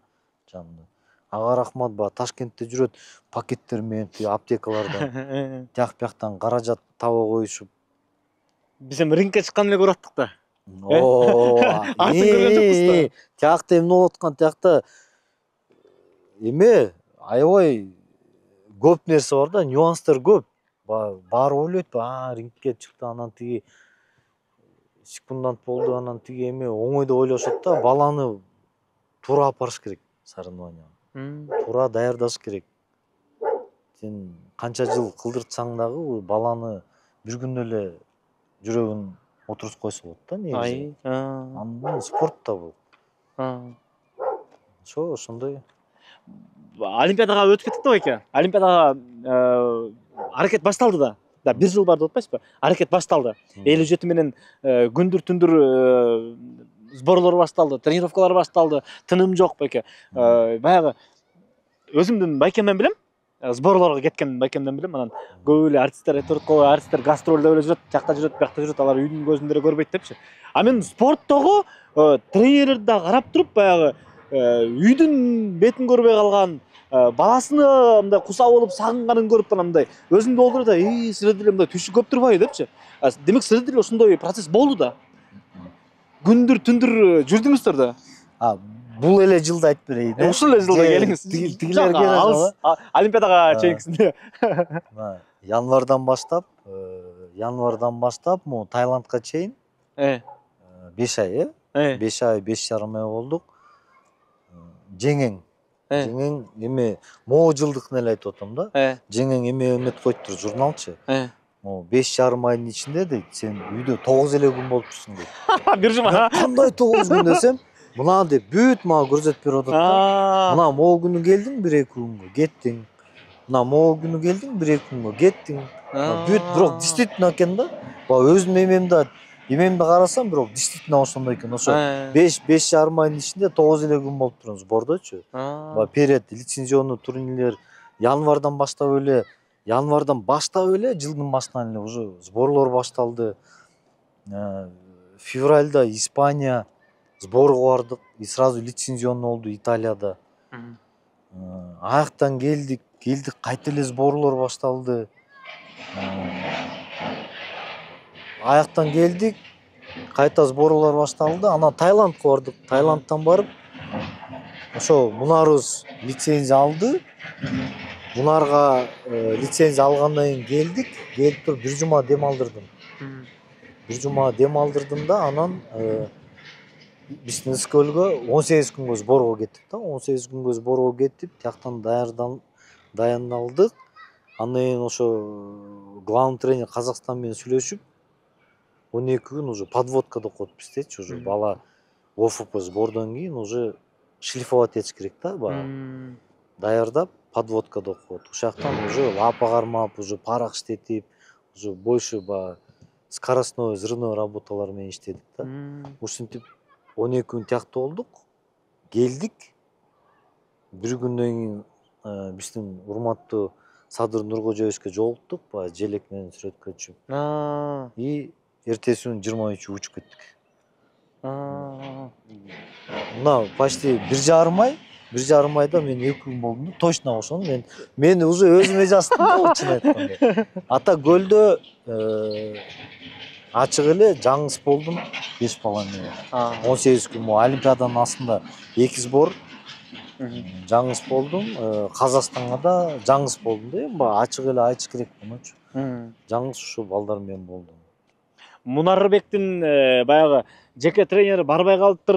жанында. Ага рахмат, Ташкентте жүрөт, пакеттер менен аптекалардан тияк бияктан каражат таба коюшуп. Биз эми рингке чыккан эле көрүп аттык да. Атын көргөн жокпуз да. Тиякта эмне болуп аткан, тиякта эме аябай көп нерсе бар да, нюанстар көп. Баары ойлойт, рингке чыкты, анан тиги секундант болду, анан тиги эме оңой деп ойлошот да, баланы туура апарыш керек соревнованияга. Туура даярдаш керек. Сен канча жыл кылдыртсаң дагы баланы бир күндө эле жүрөгүн отурусуп койсо болот да негизи. Андан спорт да бул. Ошондой. Олимпиадага өтүп кеттик да байке. Олимпиадага аракет башталды да. 1 жыл барды деп атпайсызбы? Аракет башталды. 57 менен күндүр түндүр сборлор башталды, тренировкалар башталды, тыным жок байке. Баягы өзүмдүн байкемден билем, сборлорго кеткен байкемден билем. Анан көп эле артисттер айтып атат, артисттер гастролдо эле жүрөт, тиякта жүрөт, биякта жүрөт, алар үйдүн көзүндө эле көрбөйт депчи. А мен спорттогу тренерлерди да карап туруп, баягы үйдүн бетин көрбөй калган, баласына мындай куса болуп сагынганын көрүп мындай өзүмдү болдур да, силер деле мындай түшү көп турбайбы депчи. Демек силер деле ошондой процесс болду да. Күндүр түндүр жүрдүңүздөр да. Бул эле жылды айтып берейин. Ушул эле жылда келиңиз. Тигилерге алыс Олимпиадага чейинкисинде. Январдан баштап, могу Таиландка чейин 5 ай, 5 ай, 5,5 ай болдук. Жеңең эме могу жылдыкын эле айтып атам да. Жеңең эме эметип коюптур, журналчы. Могу 5,5 айдын ичинде дейт, сен үйдө 9 эле күн болупсуң дейт. Бир жума. Кандай 9 күн десем, мына деп бүт мага көрсөтүп берип атат да. Мына могу күнү келдиң, 1-2 күнгө кеттиң. Мына могу күнү келдиң, 1-2 күнгө кеттиң. Бүт бирок действительно экен да. Өзүм эмемди карасам, бирок действительно ошондой экен. Ошо 5,5 айдын ичинде 9 эле күн болуп турам сбордочу. Перед лицензионный турнирлер январдан баштап эле, жылдын башынан эле уже сборлор башталды. Февральда Испания сборго бардык, и сразу лицензионный болду Италияда. Аяктан келдик, кайта эле сборлор башталды. Аяктан келдик, кайта сборлор башталды. Анан Таиландка бардык. Таиландтан барып, ошо Мунарыбыз лицензия алды. Мунарга лицензия алгандан кийин келип туруп 1 жума дем алдырдым. 1 жума дем алдырдым да, анан биздин СКЛгө 18 күнгө сборго кеттик да. 18 күнгө сборго кеттип, тияктан даяндалдык. Андан кийин ошо главный тренер Казакстан менен сүйлөшүп, 12 күн уже подводкада окуп биздечи, уже бала ОФП сбордон кийин уже шлифовать этиш керек да, даярдап подводкада окуп. Ошояктан уже лапа кармап, уже парак иштетип, уже больше скоростной, взрывной работалар менен иштедик да. Ушинтип 12 күн тиякта болдук. Келдик. 1 күндөн кийин биздин урматтуу Садыр Нуркожоевичке жолуктук, желек менен сүрөткө түшүп. И эртеси күнү 23 учуп кеттик. Мына почти 1,5 айда мен 2 күн болдум. Точно ошону мен уже өзүмө жаздым да, чын айтканда. Ата көлдө ачык эле жаңыс болдум 5,5 ай. 18 күн Олимпиаданын астында 2 сбор жаңыс болдум. Казакстанга да жаңыс болдум да, эми ачык эле айтыш керек мунучу. Жаңыс ушу балдар менен болдум. Мунарбектин баягы жеке тренери барбай калыптыр,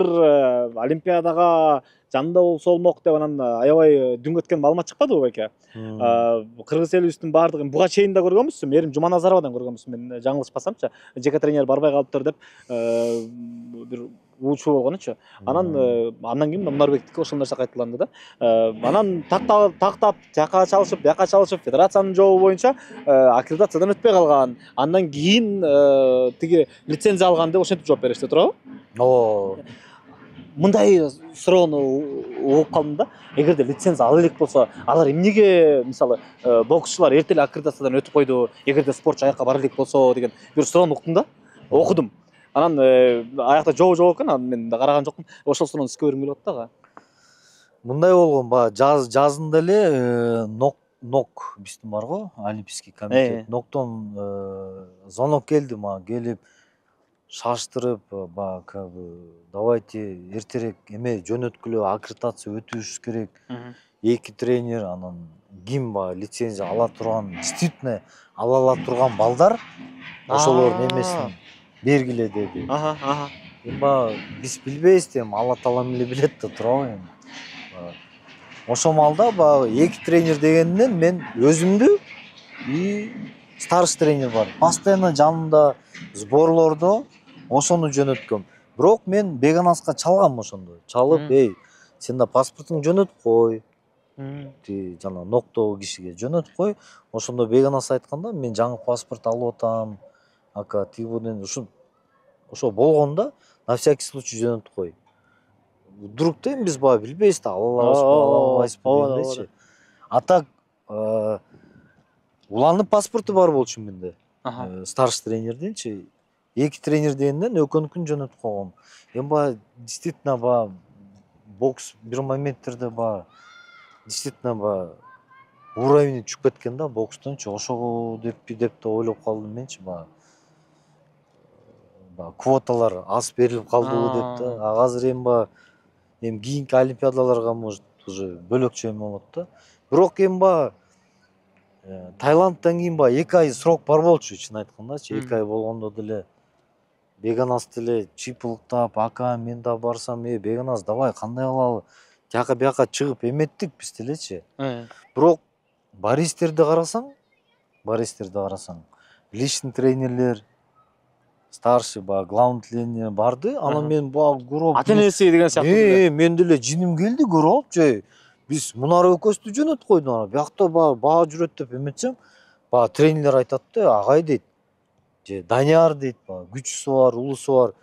Олимпиадага жанында болсо болмок деп анан аябай дүңгө өткөн маалымат чыкпадыбы байке? Кыргыз элибиздин баардыгын буга чейин да көргөнбүз. Мээрим Жуманазаровадан көргөнбүз, мен жаңылышпасамчы. Жеке тренер барбай калыптыр деп бир уучу болгонучу. Андан кийин Мунарбектики ошол нерсе кайталанды да. Анан тактап жака чалышып, бияка чалышып, федерациянын жообу боюнча аккредитациядан өтпөй калган. Андан кийин тиги лицензия алган деп ошентип жооп беришти, туурабы? Мындай суроону угуп калдым да. Эгерде лицензия ала элек болсо, алар эмнеге, мисалы, боксчулар эрте эле аккредитациядан өтүп койду, эгерде спортчу аякка бара элек болсо деген бир суроону уктум да. Окудум. Анан аякта жоо экен, анан мен караган жокмун. Ошол суроону сизге бергим келип атты ага. Мындай болгон, жазында эле НОК биздин барго, Олимпийский комитет. НОКтон звонок келди мага, келип шаштырып, давайте эртерээк эме жөнөткүлө, аккредитация өтүш керек. 2 тренер, анан ким лицензия ала турган, действительно ала турган балдар ошолордун эмесин бергиле деди. Биз билбейбиз дейм, Алла таалам эле билет да, туурабы эми. Ошол маалда 2 тренер дегенден мен өзүмдү и старший тренер бар. Постоянно жанымда сборлордо ошону жөнөткөм. Бирок мен Беганаска чалгам ошондо. Чалып, сен да паспортуңду жөнөтүп кой. Жана ноктогу кишиге жөнөтүп кой. Ошондо Беганас айтканда, мен жаңы паспорт алып атам. Ака тигибуден ошо болгондо на всякий случай жөнөтүп кой. Вдруг дейм, биз билбейбиз да, ала алабызбы дечи. А так уланып паспорту бар болчу менде. Старший тренерденчи. 2 тренер дегенден экөөнүкүн жөнөтүп койгом. Эми действительно бокс бир моменттерде действительно уровень түшүп кеткен да бокстончу. Ошого деп да ойлоп калдым менчи. Квоталар аз берилип калдыбы деп да. Азыр эми эми кийинки олимпиадаларга может уже бөлөкчө эме болот да. Бирок эми баягы Таиландтан кийин баягы 2 ай срок бар болчу, чын айткандачы. 2 ай болгондо деле Беканаз деле чыйпылыктап, ака мен да барсам, Беканаз давай кандай кылалы? Тияка бияка чыгып эметтик биз делечи. Бирок баристерди карасаң, личный тренерлер, старший баягы главный тренер барды. Анан мен баягы көрүп, ата-энеси деген сыяктуу. мен деле жиним келди көрүп, биз Мунар экөөбүздү жөнөтүп койду ана. Биякта баа жүрөт деп эметсем, баягы тренерлер айтат да, агай дейт. Же Данияр дейт, күчүсү бар, улусу бар.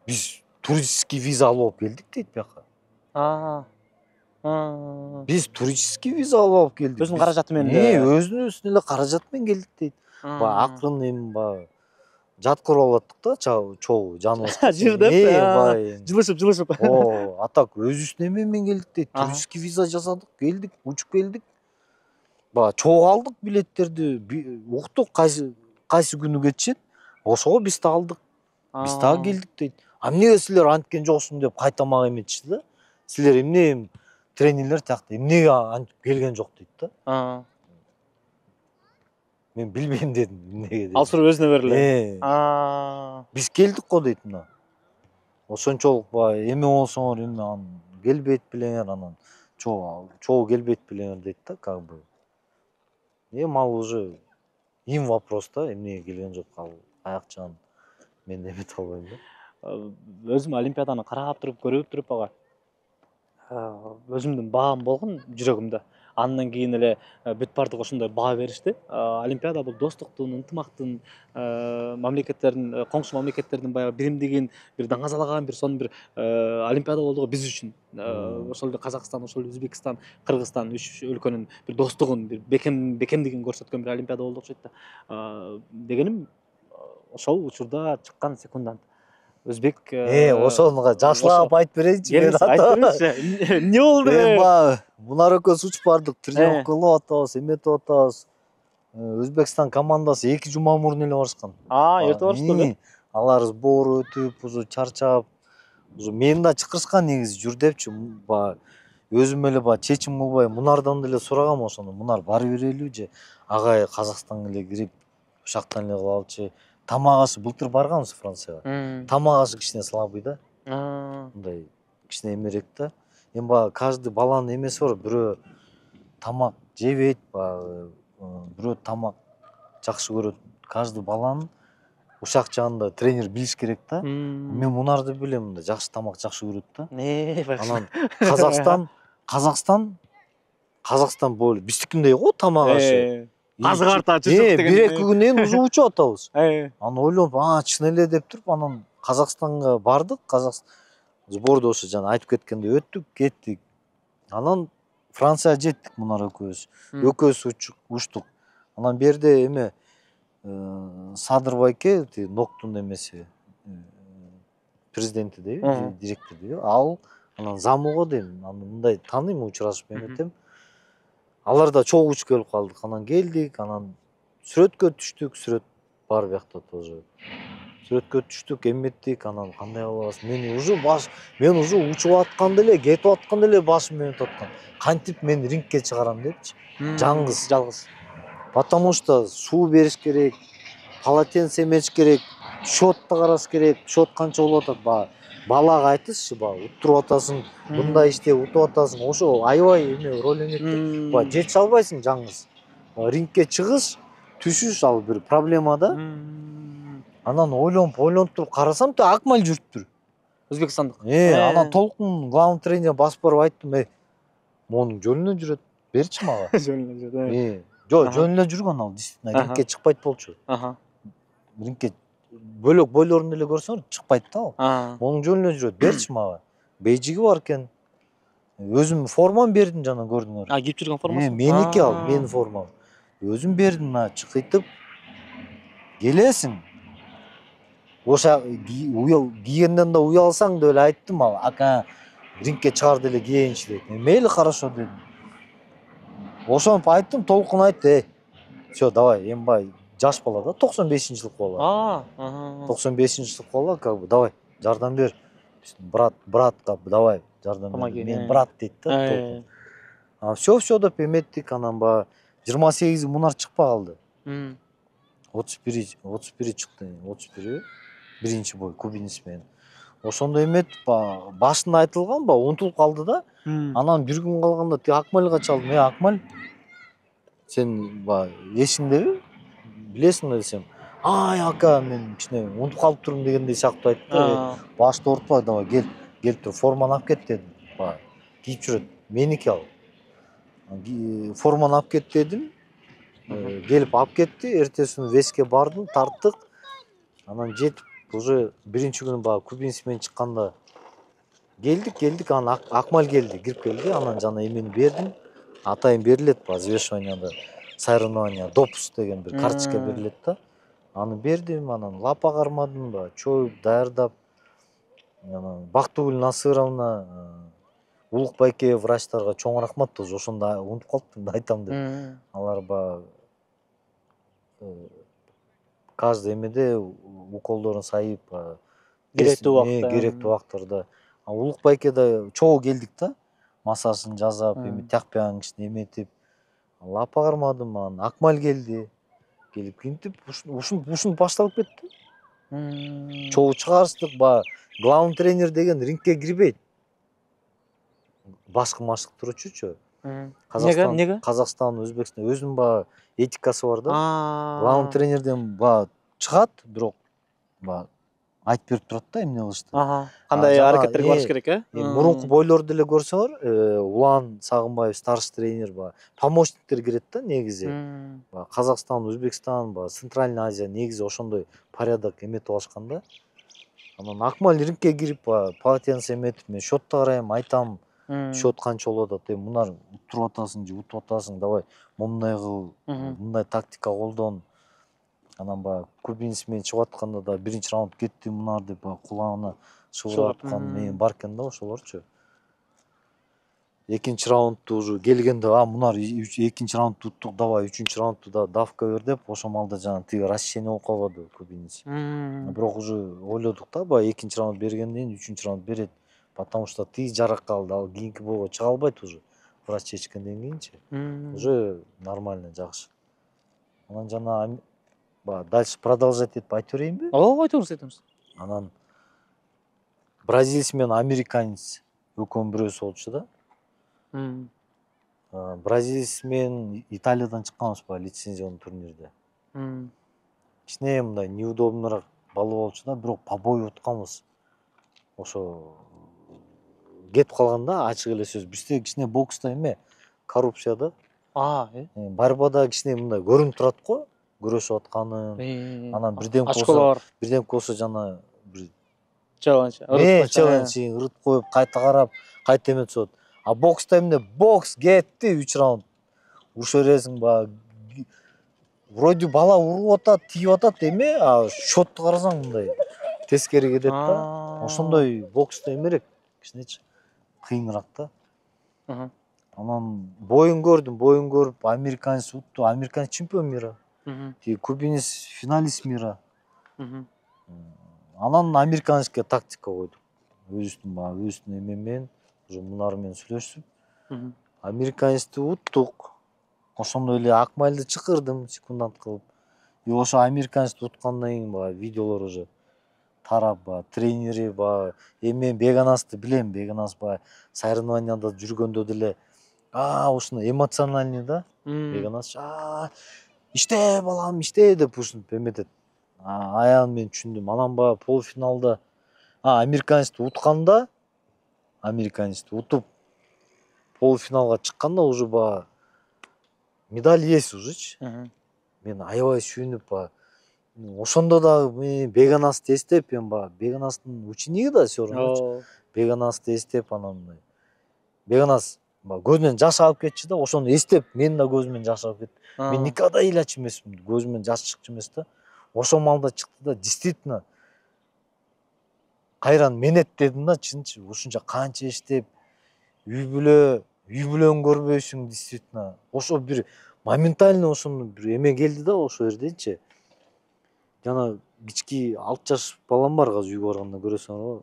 Биз туристский виза алып келдик дейт бияка. Биз туристский виза алып келдик. Өзүнүн каражаты менен. Өзүнүн эле каражаты менен келдик дейт. Баягы акырын эми баягы жаткырып алаттык да, чогуу жаныбыз. Жырдап, жылышып. А так өзүбүздүн эме менен келдик дейт. Туристский виза жасадык, келдик, учуп келдик. Баягы чогуу алдык билеттерди, уктук кайсы күнү кетишет. Ошого биз да алдык. Биз дагы келдик дейт. Эмнеге силер анткен жоксуң деп кайта мага эметишти да. Силер эмне тренерлер тиякта эмнеге антип келген жок дейт да. Мен билбейм дедим эмнеге деп. Ал суроо өзүнө бериле. Биз келдик го дейт мына. Ошончолук баягы эме болсоңор эме анан келбейт белеңер, анан чогуу келбейт белеңер дейт да, как бы. Эми ал уже им вопрос да, эмнеге келген жок, ал аяк жагын мен эмете албайм да. Өзүм олимпиаданы карап туруп, көрүп туруп ага өзүмдүн баам болгон жүрөгүмдө. Андан кийин эле бүт баардык ошондой баа беришти. Олимпиада бул достуктун, ынтымактын, мамлекеттердин, коңшу мамлекеттердин баягы биримдигин бир даңазалаган бир сонун бир олимпиада болду го биз үчүн. Ошол эле Казакстан, ошол эле Өзбекстан, Кыргызстан үч өлкөнүн бир достугун, бир бекемдигин көрсөткөн бир олимпиада болду окшойт да. Дегеним ошол учурда чыккан секундант өзбек ошонуга жакшылап айтып берейинчи. Айтып бериңизчи. Эмне болду? Мен баягы Мунар экөөбүз учуп бардык, тренировка кылып атабыз, эметип атабыз. Өзбекстан командасы 2 жума мурун эле барышкан. Эрте барышты. Алар сбор өтүп, уже чарчап, уже мени да чакырышкан негизи жүр депчи. Баягы өзүм эле баягы чечим кылбай Мунардан деле сурагам ошону. Мунар бара берелиби же агай Казакстанга эле кирип, ушактан эле кылалычы. Тамак ашы былтыр барганбыз Францияга. Тамак ашы кичине слабый да. Мындай кичине эмерээк да. Эми баягы каждый баланын эмеси бар. Бирөө тамак жебейт, баягы бирөө тамак жакшы көрөт. Каждый баланын ушак жагында тренер билиш керек да. Мен Мунарды билем, мындай жакшы тамак жакшы көрөт да. Анан Казакстан болу биздикиндей го тамак ашы. Азык арта чычык деген. 1-2 күндөн уже учуп атабыз. Анан ойлонуп, чын эле деп туруп, анан Казакстанга бардык. Сборду ошо жана айтып кеткендей өттүк, кеттик. Анан Францияга жеттик Мунар экөөбүз. Экөөбүз учтук. Анан берде эме Садырбайке, ноктун эмеси, президенти дейби, директор дейби. Ал анан замыго дейм, анан мындай тааныйм, учурашып эметем. Алар да чогуу учуп келип калдык. Анан келдик, анан сүрөткө түштүк, сүрөт бар биякта тоже. Сүрөткө түштүк, эметтик, анан кандай кылабыз? Мен уже учуп атканда эле, кетип атканда эле башым өтүп аткан. Кантип мен рингке чыгарам депчи. Жалгыз. Потому что суу бериш керек, полотенце эметиш керек, счётты караш керек. Счёт канча болуп атат? Балага айтышчы, уттуруп атасың, мындай иштеп утуп атасың. Ошо аябай роль ойнойт. Жете албайсың жалгыз. Рингке чыгыш, түшүш ал бир проблема да. Анан ойлонуп туруп карасам, Акмал жүрүптүр. Өзбекстандык. Анан толкун главный тренер басып барып айттым, монун жөнүнө жүрөт, берчи мага. Жөнүнө жүрөт. Жок, жөнүнө жүргөн ал, действительно, рингке чыкпайт болчу. Рингке бөлөк бойлорун эле көрсөң чыкпайт да ал. Монун жөнүнө жүрөт, берчи мага. Бейжиги бар экен. Өзүм формамды бердим жана көрдүңөр. Кийип жүргөн формасы? Меники ал, менин формам. Өзүм бердим, чыкыйтып келесиң. Оша кийгенден да уялсаң деп эле айттым ал. Ака рингке чыгарды эле кийейинчи деп. Мейли, хорошо дедим. Ошонуп айттым, толкун айтты, всё, давай, эми бай жаш бала да, 95-жылык бала. 95-жылык бала, как бы, давай, жардам бер. братка давай жардам бер. Мен брат дейт да. Все деп эметтик, анан баягы 28 мунар чыкпай калды. 31 чыкты, 31 биринчи бой кубинец менен. Ошондо эметтик, башында айтылган, унутулуп калды да. Анан бир күн калганда тиги Акмалга чалдым. Акмал, сен эсиңдеби? Билесиңби десем, ай ака, мен кичине унутуп калып турмун дегендей сыяктуу айтты. Башты оорутпай, давай келип тур, форманы алып кет дедим. Кийип жүрөт, меники ал. Форманы алып кет дедим. Келип алып кетти. Эртеси күнү веске бардым, тарттык. Анан жетип уже биринчи күнү кубинец менен чыкканда келдик, анан Акмал келди, кирип келди. Анан жана эмени бердим. Атайын берилет взвешиванияда, соревнования, допуск деген бир карточка берилет да. Аны бердим, анан лапа кармадым, чоюп, даярдап. Анан Бактыгүл Насыровна, Улук Байке врачтарга чоң рахмат, тоже ошондо унутуп калыптым да айтам деп. Алар каждый эмеде уколдорун сайып, керектүү убактарда. Улук Байкеде чогуу келдик да. Массажын жасап, тякпаган кичине эметип, лапа кармадым. Анан Акмал келди. Келип кинтип, ушинтип башталып кетти. Чогуу чыгарыштык, главный тренер деген рингке кирбейт. Башкы машык турчучу. Неге? Казакстан, Өзбекстан өзүнүн этикасы бар да. Главный тренерден чыгат, бирок айтып берип турат да, эмне кылышты. Кандай аракеттерге барыш керек, Мурунку бойлорду деле көрсөңөр, Улан Сагынбаев старший тренер, помощниктер кирет да негизи. Казакстан, Өзбекстан, Центральный Азия негизи ошондой порядок эметип алышкан да. Анан Акмал рингке кирип, полотенце эметип, мен счётту карайм, айтам, счёт канча болуп атат, мунар туруп атасың же утуп атасың, давай момундай кыл, мындай тактика колдон. Анан кубинец менен чыгып атканда да биринчи раунд кетти мунар деп кулагына шыбырлап аткан мен бар экен да ошолорчу. Экинчи раундту уже келгенде мунар экинчи раундту уттук, давай үчүнчү раундту да давка бер деп, ошол маалда жана тиги расчение болуп калбады кубинец. Бирок уже ойлодук да, экинчи раунд бергенден кийин үчүнчү раунд берет, потому что тиги жарак калды, ал кийинки бойго чыга албайт уже. Врач чечкенден кийинчи уже нормально, жакшы. Анан жана дальше продолжать этип айтып берейинби? Ооба, айтыңыз. Анан бразилец менен американец экөөнүн бирөөсү болчу да. Бразилец менен Италиядан чыкканбыз лицензионный турнирде. Кичине мындай неудобныйраак балл болчу да, бирок по бою утканбыз. Ошо кетип калган да, ачык эле сөз. Бизде кичине бокста коррупция да. Борьбада кичине мындай көрүнүп турат го, күрөшүп атканын. Анан бирден болсо жана бир челлендж ырыт коюп, кайта карап, кайта эметип атат. А бокста бокс кетти 3 раунд. Уруша бересиң, вроде бала уруп атат, тийип атат а счётту карасаң мындай тескери кетет да. Ошондой бокста эмерээк, кичинечи кыйыныраак да. Анан боюн көрүп, американец утту, американец чемпион мира. Кубинец финалист мира. Анан американецке тактика койдук. Өзүбүздүн эме менен, уже мунар менен сүйлөшүп, американецти уттук. Ошондой эле Акмалды чакырдым секундант кылып. Ошо американецти уткандан кийин видеолор уже тарап, тренери, Беганасты билем, Беганас соревнованияда жүргөндө деле ушуну эмоциональный да. Беганас иште балам, иште деп ушинтип эметет. Аягын мен түшүндүм. Анан полуфиналда американецти утканда, американецти утуп полуфиналга чыкканда уже медаль есть ужечи. Мен аябай сүйүнүп, ошондо дагы Беганасты эстеп, Беганастын учениги да все равно. Беганасты эстеп, анан Беганас көзүнөн жаш агып кетчү да, ошону эстеп, мен да көзүмөн жаш агып кетти. Мен никогда ыйлачу эмесмин, көзүмөн жаш чыкчу эмес да. Ошол маалда чыкты да, действительно кайран менет дедим да, чынчы. Ушунча канча эстеп, үй бүлөң көрбөйсүң, действительно. Ошо бир моментально ошону бир эме келди да, ошол жерденчи. Жана кички 6 жаш балам бар, азыр үйгө барганда көрөсүңөр.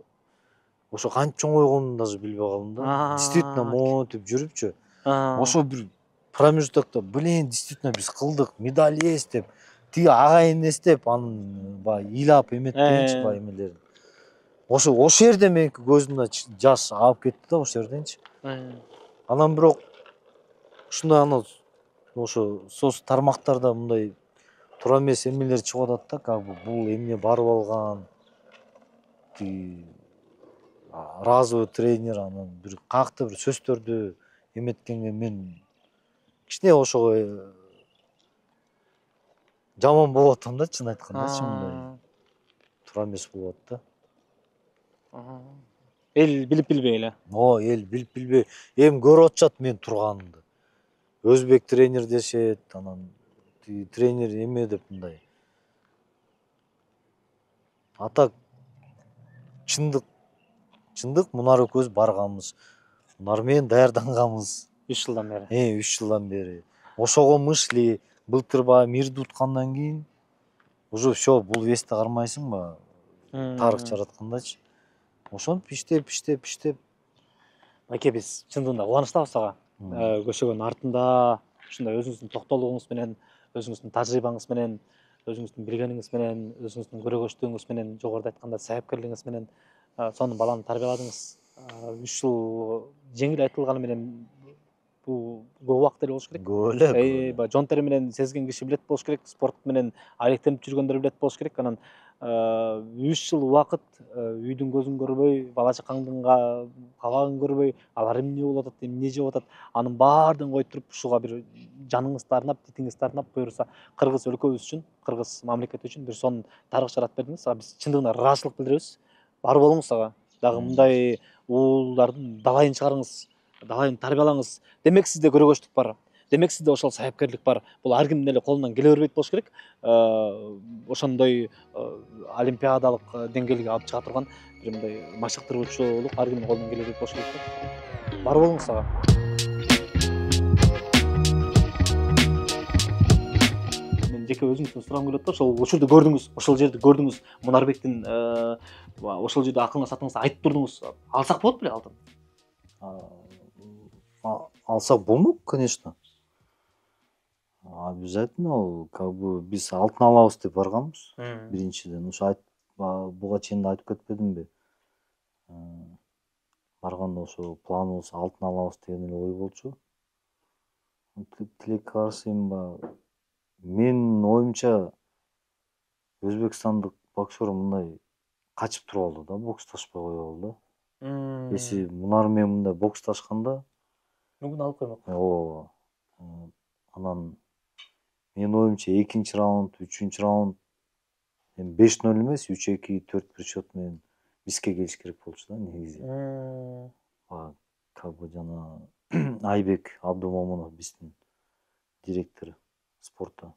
ошо кантип чоңойгонун даже билбей калдым да. Действительно монтип жүрүпчү. Ошо бир промежутокто действительно биз кылдык, медаль есть деп, тиги агайын эстеп, анын баягы ыйлап эметкенчи баягы эмелерин. Ошо жерде меники көзүмдөн жаш агып кетти да ошол жерденчи. Анан бирок ушундай анан ошо соц тармактарда мындай туура эмес эмелер чыгып атат да, как бы бул эмне барып алган, тиги разовый тренер анан бир каяктыр бир сөздөрдү эметкенге мен кичине ошого жаман болуп атам да, чын айткандачы, мындай туура эмес болуп атат да. Эл билип билбей эле. Эл билип билбей эми көрүп атышат мен турганымды. Өзбек тренер дешет, анан тиги тренер эме деп мындай. А так чындык мунар экөөбүз барганбыз. Мунар менен даярданганбыз. 3 жылдан бери. 3 жылдан бери. Ошого мышли былтыр баягы мирди уткандан кийин уже все, бул вести кармайсың баягы. Тарых жараткандачы. Ошентип иштеп. Байке, биз чындыгында кубанычтабыз ага. Көшөгөнүн артында ушундай өзүңүздүн токтолугуңуз менен, өзүңүздүн тажрыйбаңыз менен, өзүңүздүн билгениңиз менен, өзүңүздүн көрөгөчтүгүңүз менен, жогоруда айтканда себепкерлигиңиз менен сонун баланы тарбияладыңыз. 3 жыл жеңил айтылганы менен бул көп убакыт эле болуш керек. Көп эле. Жон тери менен сезген киши билет болуш керек, спорт менен алектенип жүргөндөр билет болуш керек. Анан 3 жыл убакыт үйдүн көзүн көрбөй, бала чакаңдын кабагын көрбөй, алар эмне болуп атат, эмне жеп атат, анын баардыгын коюп туруп, ушуга бир жаныңызды арнап, титиңизди арнап, буюрса кыргыз өлкөбүз үчүн, кыргыз мамлекети үчүн бир сонун тарых жаратып бердиңиз. Биз чындыгында ыраазычылык билдиребиз. Бар болуңуз ага. Дагы мындай уулдардын далайын чыгарыңыз, далайын тарбиялаңыз. Демек сизде көрөгөчтүк бар. Демек сизде ошол себепкерлик бар. Бул ар кимдин эле колунан келе бербейт болуш керек. Ошондой олимпиадалык деңгээлге алып чыга турган бир мындай машыктыруучулук ар кимдин колунан келе бербейт болуш керек. Бар болуңуз ага. Мен жеке өзүңүздөн сурагым келип атат. Ошол учурду көрдүңүз, ошол жерди көрдүңүз. Мунарбектин ошол жерде акылыңа сатыңызды айтып турдуңуз. Алсак болот беле алтын? Алсак болмок, конечно. Обязательно, как бы биз алтын алабыз деп барганбыз. Биринчиден, ошо буга чейин да айтып кетпедимби? Барганда ошо планыбыз алтын алабыз деген эле ой болчу. Тилекке каршы эми менин оюмча өзбекстандык боксер мындай качып туруп алды да, боксташпай кое алды. Если мунар менен мындай боксташканда мүмкүн алып коймок. Ооба. Анан менин оюмча 2-чи раунд, 3-чү раунд эми 5-0 эмес, 3-2, 4-1 счет менен бизге келиш керек болчу да негизи. Как бы жана Айбек Абдумомунов биздин директору спорта.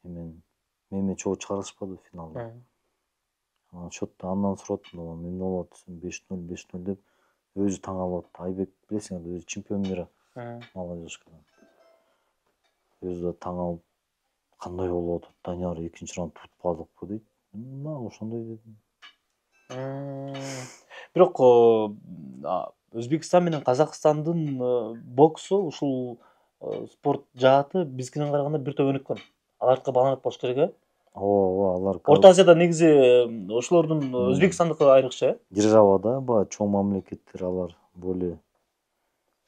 Мени чогуу чыгарышпады финалда. Анан счетту андан сурадым, эмне болот десем 5-0, 5-0 деп өзү таң калып атты. Айбек билесиң эле, өзү чемпион мира молодежкадан. Өзү да таң калып, кандай болуп атат, Данияр 2-чи раунд утпадыкпы дейт. Ошондой дедим. Бирок Өзбекстан менен Казакстандын боксу, ушул спорт жааты бизгиден караганда бир топ өнүккөн. Алардыкы баланат болуш керек, э? Ооба, алар Орто Азияда негизи ошолордун Өзбекстандыкы айрыкча, э? Державада баягы чоң мамлекеттер, алар более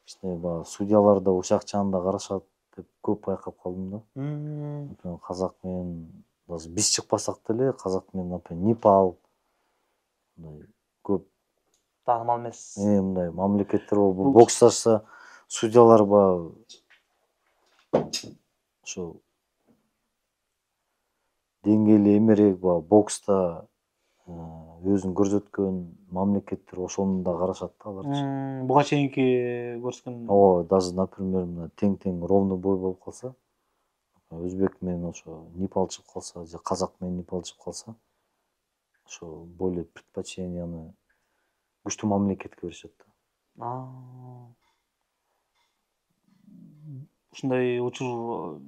кичине баягы судьялар да ушакчаны да карашат деп көп байкап калдым да. Например, казак менен даже биз чыкпасак деле, казак менен, например, Непал мындай көп таанымал эмес. Мындай мамлекеттер болуп боксташса, судьялар баягы ошо деңгээли эмерээк баягы бокста өзүн көрсөткөн мамлекеттер ошону да карашат да аларчы. Буга чейинки көрсөткөн. Ооба, даже, например, мына тең ровно бой болуп калса, өзбек менен ошо Непал чыгып калса, же казак менен Непал чыгып калса, ошо более предпочтенияны күчтүү мамлекетке беришет да. Ушундай учур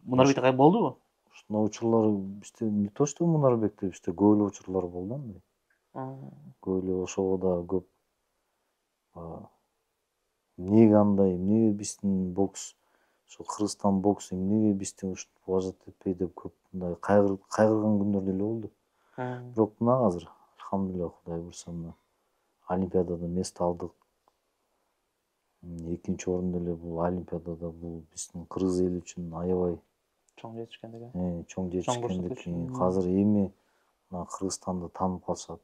Мунарбекте кай болдубу? Ушундай учурлар бизде не то что Мунарбекте, бизде көп эле учурлар болду андай. Көп эле ошого да көп эмнеге андай, эмнеге биздин бокс, ошо Кыргызстан боксу эмнеге бизди ушинтип уважать этпей деп көп мындай кайгырган күндөр деле болду. Бирок мына азыр алхамдулилля, Кудай буйрса мына Олимпиадада место алдык. Экинчи орун деле бул Олимпиадада бул биздин кыргыз эли үчүн аябай чоң жетишкендик. чоң жетишкендик. Азыр эми мына Кыргызстанды таанып калышат.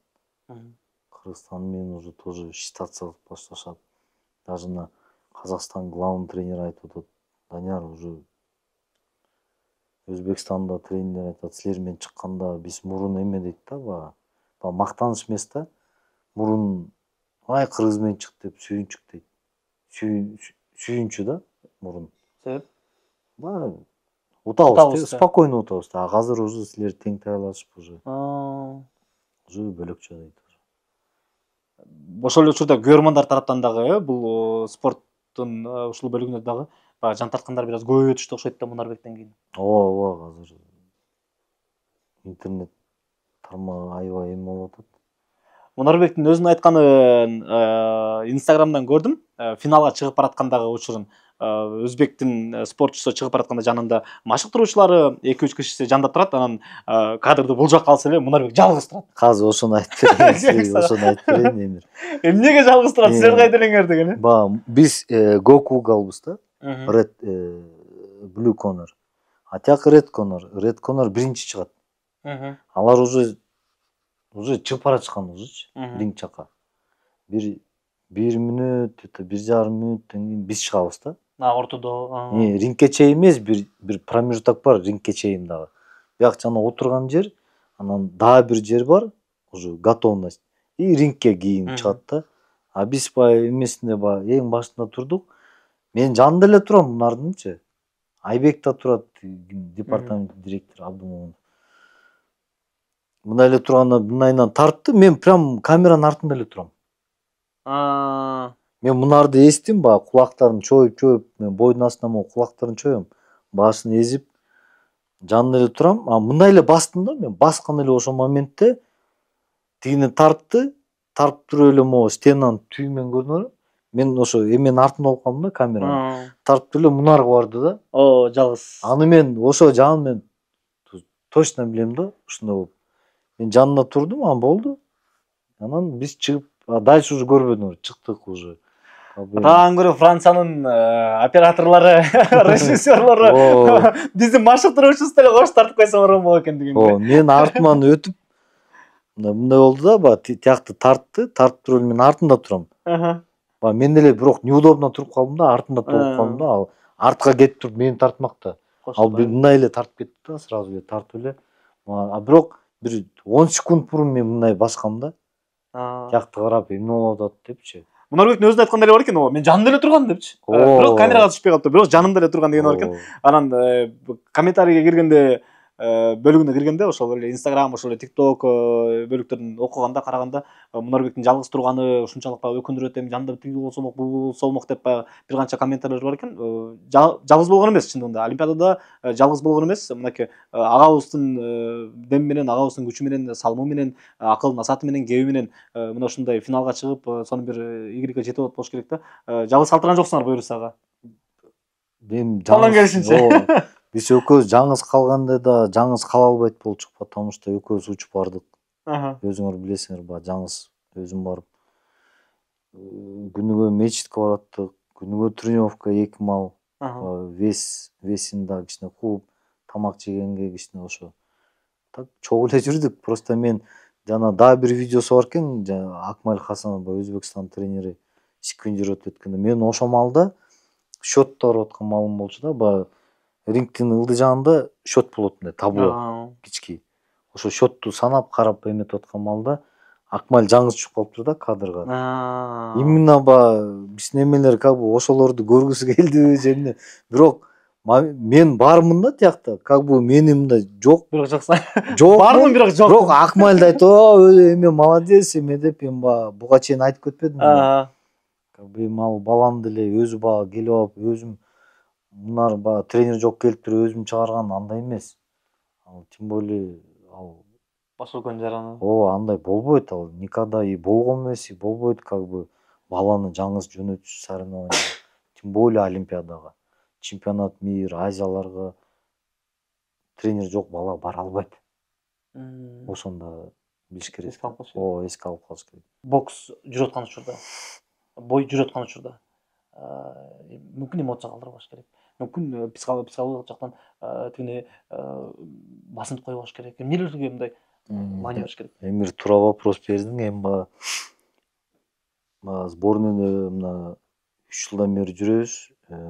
Кыргызстан менен уже тоже считаться кылып башташат. Даже мына Казакстан главный тренер айтып атат: Данияр, уже Өзбекстанда тренер айтат, силер менен чыкканда биз мурун эме дейт да, баягы мактаныш эмес да. Мурун ай кыргыз менен чык деп сүйүнчүк дейт. Сүйүнчү да мурун. Себеп? Утабыз, спокойно утабыз. А азыр уже силер тең таялашып уже. Уже бөлөкчө дейт. Ошол эле учурда көрөрмандар тараптан дагы бул спорттун ушул бөлүгүнө дагы баягы жан тарткандар бир аз көбөйүп өтүштү окшойт да Мунарбектен кийин. Ооба, азыр интернет тармагы аябай эме болуп атат. Мунарбектин өзүнүн айтканын Инстаграмдан көрдүм. Финалга чыгып бараткандагы учурун. Өзбектин спортчусу чыгып баратканда жанында машыктыруучулары 2-3 кишиси жандап турат. Анан кадрды булжак калса эле Мунарбек жалгыз турат. Азыр ошону айтып берейин, Эмир. Эмнеге жалгыз турат? Силер кайда элеңер деген. Биз Goku'га албыз да. Red Blue Corner. А тияк Red Corner. Red Corner биринчи чыгат. Алар уже чыгып баратышкан ужечи, ринг жака. Бир мүнөт, 1,5 мүнөттөн кийин биз чыгабыз да. Ортодо. Рингке чейин эмес, бир промежуток бар, рингке чейин дагы. Бияк жана отурган жер, анан дагы бир жер бар, уже готовность. И рингке кийин чыгат да. А биз баягы эмесинде эң башында турдук. Мен жанында эле турам Мунардынчы. Айбек да турат, департамент директору Абдумомунов. Мындай эле турганда мындайынан тартты, мен прям камеранын артында эле турам. Мен Мунарды эстим, кулактарын чоюп, мен бойдун астынан кулактарын чоюм, башын эзип, жанында эле турам. А мындай эле бастым да, мен баскан эле ошол моментте тигини тартты, тартып туруп эле могу стенанын түбү менен көрдүңөрбү? Мен ошо эменин артында болуп калдым да, камеранын. Тартып эле Мунарга барды да. Жалгыз. Аны мен ошо жагын мен точно билем да, ушундай болуп. Мен жанында турдум, анан болду. Анан биз чыгып, дальше уже көрбөдүм, чыктык уже. Атаан көрө Франциянын операторлору, режиссерлору биздин машыктыруучубуз деле кош тартып койсо болот экен деген. Мен артыман өтүп мындай болду да, тиякты тартып туруп мен артында турам. Мен деле бирок неудобно туруп калдым да, артында болуп калдым да. Ал артка кетип туруп мени тартмакта. Ал мындай эле тартып кетти да, сразу эле тартып эле. А бирок бир 10 секунд мурун мен мындай баскам да. Тиякты карап эмне болуп атат депчи. Мунарбектин өзүнүн айткан деле бар экен, мен жанымда эле турган депчи. Бирок камерага түшпөй калыптыр, бирок жанымда эле турган деген бар экен. Анан комментарийге киргенде, бөлүгүнө киргенде, ошол эле Instagram, ошол эле TikTok бөлүктөрүн окуганда, караганда Мунарбектин жалгыз турганы ушунчалык өкүндүрөт, эми жанында тиги болсомок, бул болсомок деп бир канча комментарийлер бар экен. Жалгыз болгон эмес чындыгында. Олимпиадада жалгыз болгон эмес. Мынакей агабыздын дем менен, агабыздын күчү менен, салымы менен, акыл насааты менен, кеби менен мына ушундай финалга чыгып, сонун бир игиликке жетип атат болуш керек да. Жалгыз калтырган жоксуңар буюрсага. Жалгыз. Биз экөөбүз жаңыз калганда да жаңыз кала албайт болчук, потому что экөөбүз учуп бардык. Өзүңөр билесиңер, жаңыз өзүм барып күнүгө мечитке бараттык, күнүгө тренировка 2 мал, весин да кичине кууп, тамак жегенге кичине ошо. Так чогуу эле жүрдүк. Просто мен жана дагы бир видеосу бар экен, Акмаль Хасанов, Өзбекстан тренери секвендировать эткенде, мен ошол малда счётто барып аткан малым болчу да, рингтин ылдый жагында счёт болот, мындай табло кички. Ошо счётту санап карап эметип аткан малда Акмаль жаңыз түшүп калыптыр да кадрга. Именно биздин эмелер как бы ошолорду көргүсү келдиби же эмне. Бирок мен бармын да тиякта, как бы мени мындай жок. Бирок жоксаң. Жок. Бармын, бирок жок. Бирок Акмальды айтып, эме молодец эме деп мен буга чейин айтып кетпедим. Как бы мал балам деле өзү келип алып, өзүм Мунар тренер жок келиптир, өзүм чыгарган андай эмес. Ал тем более ал ошол жараны. Ооба, андай болбойт ал. Никогда и болгон эмес, и болбойт, как бы баланы жаңыз жөнөтүш соревнования. Тем более Олимпиадага, чемпионат мира, Азияларга тренер жок бала бара албайт. Ошондо билиш керек. Ооба, эске алып калыш керек. Бокс жүрүп аткан учурда, бой жүрүп аткан учурда мүмкүн эмоция калтырбаш керек. Мүмкүн психологиялык жактан тигине басынып койбош керек. Эмнелерге мындай маани бериш керек? Эми бир туура вопрос бердиң. Эми баягы сборныйда мына 3 жылдан бери жүрөбүз.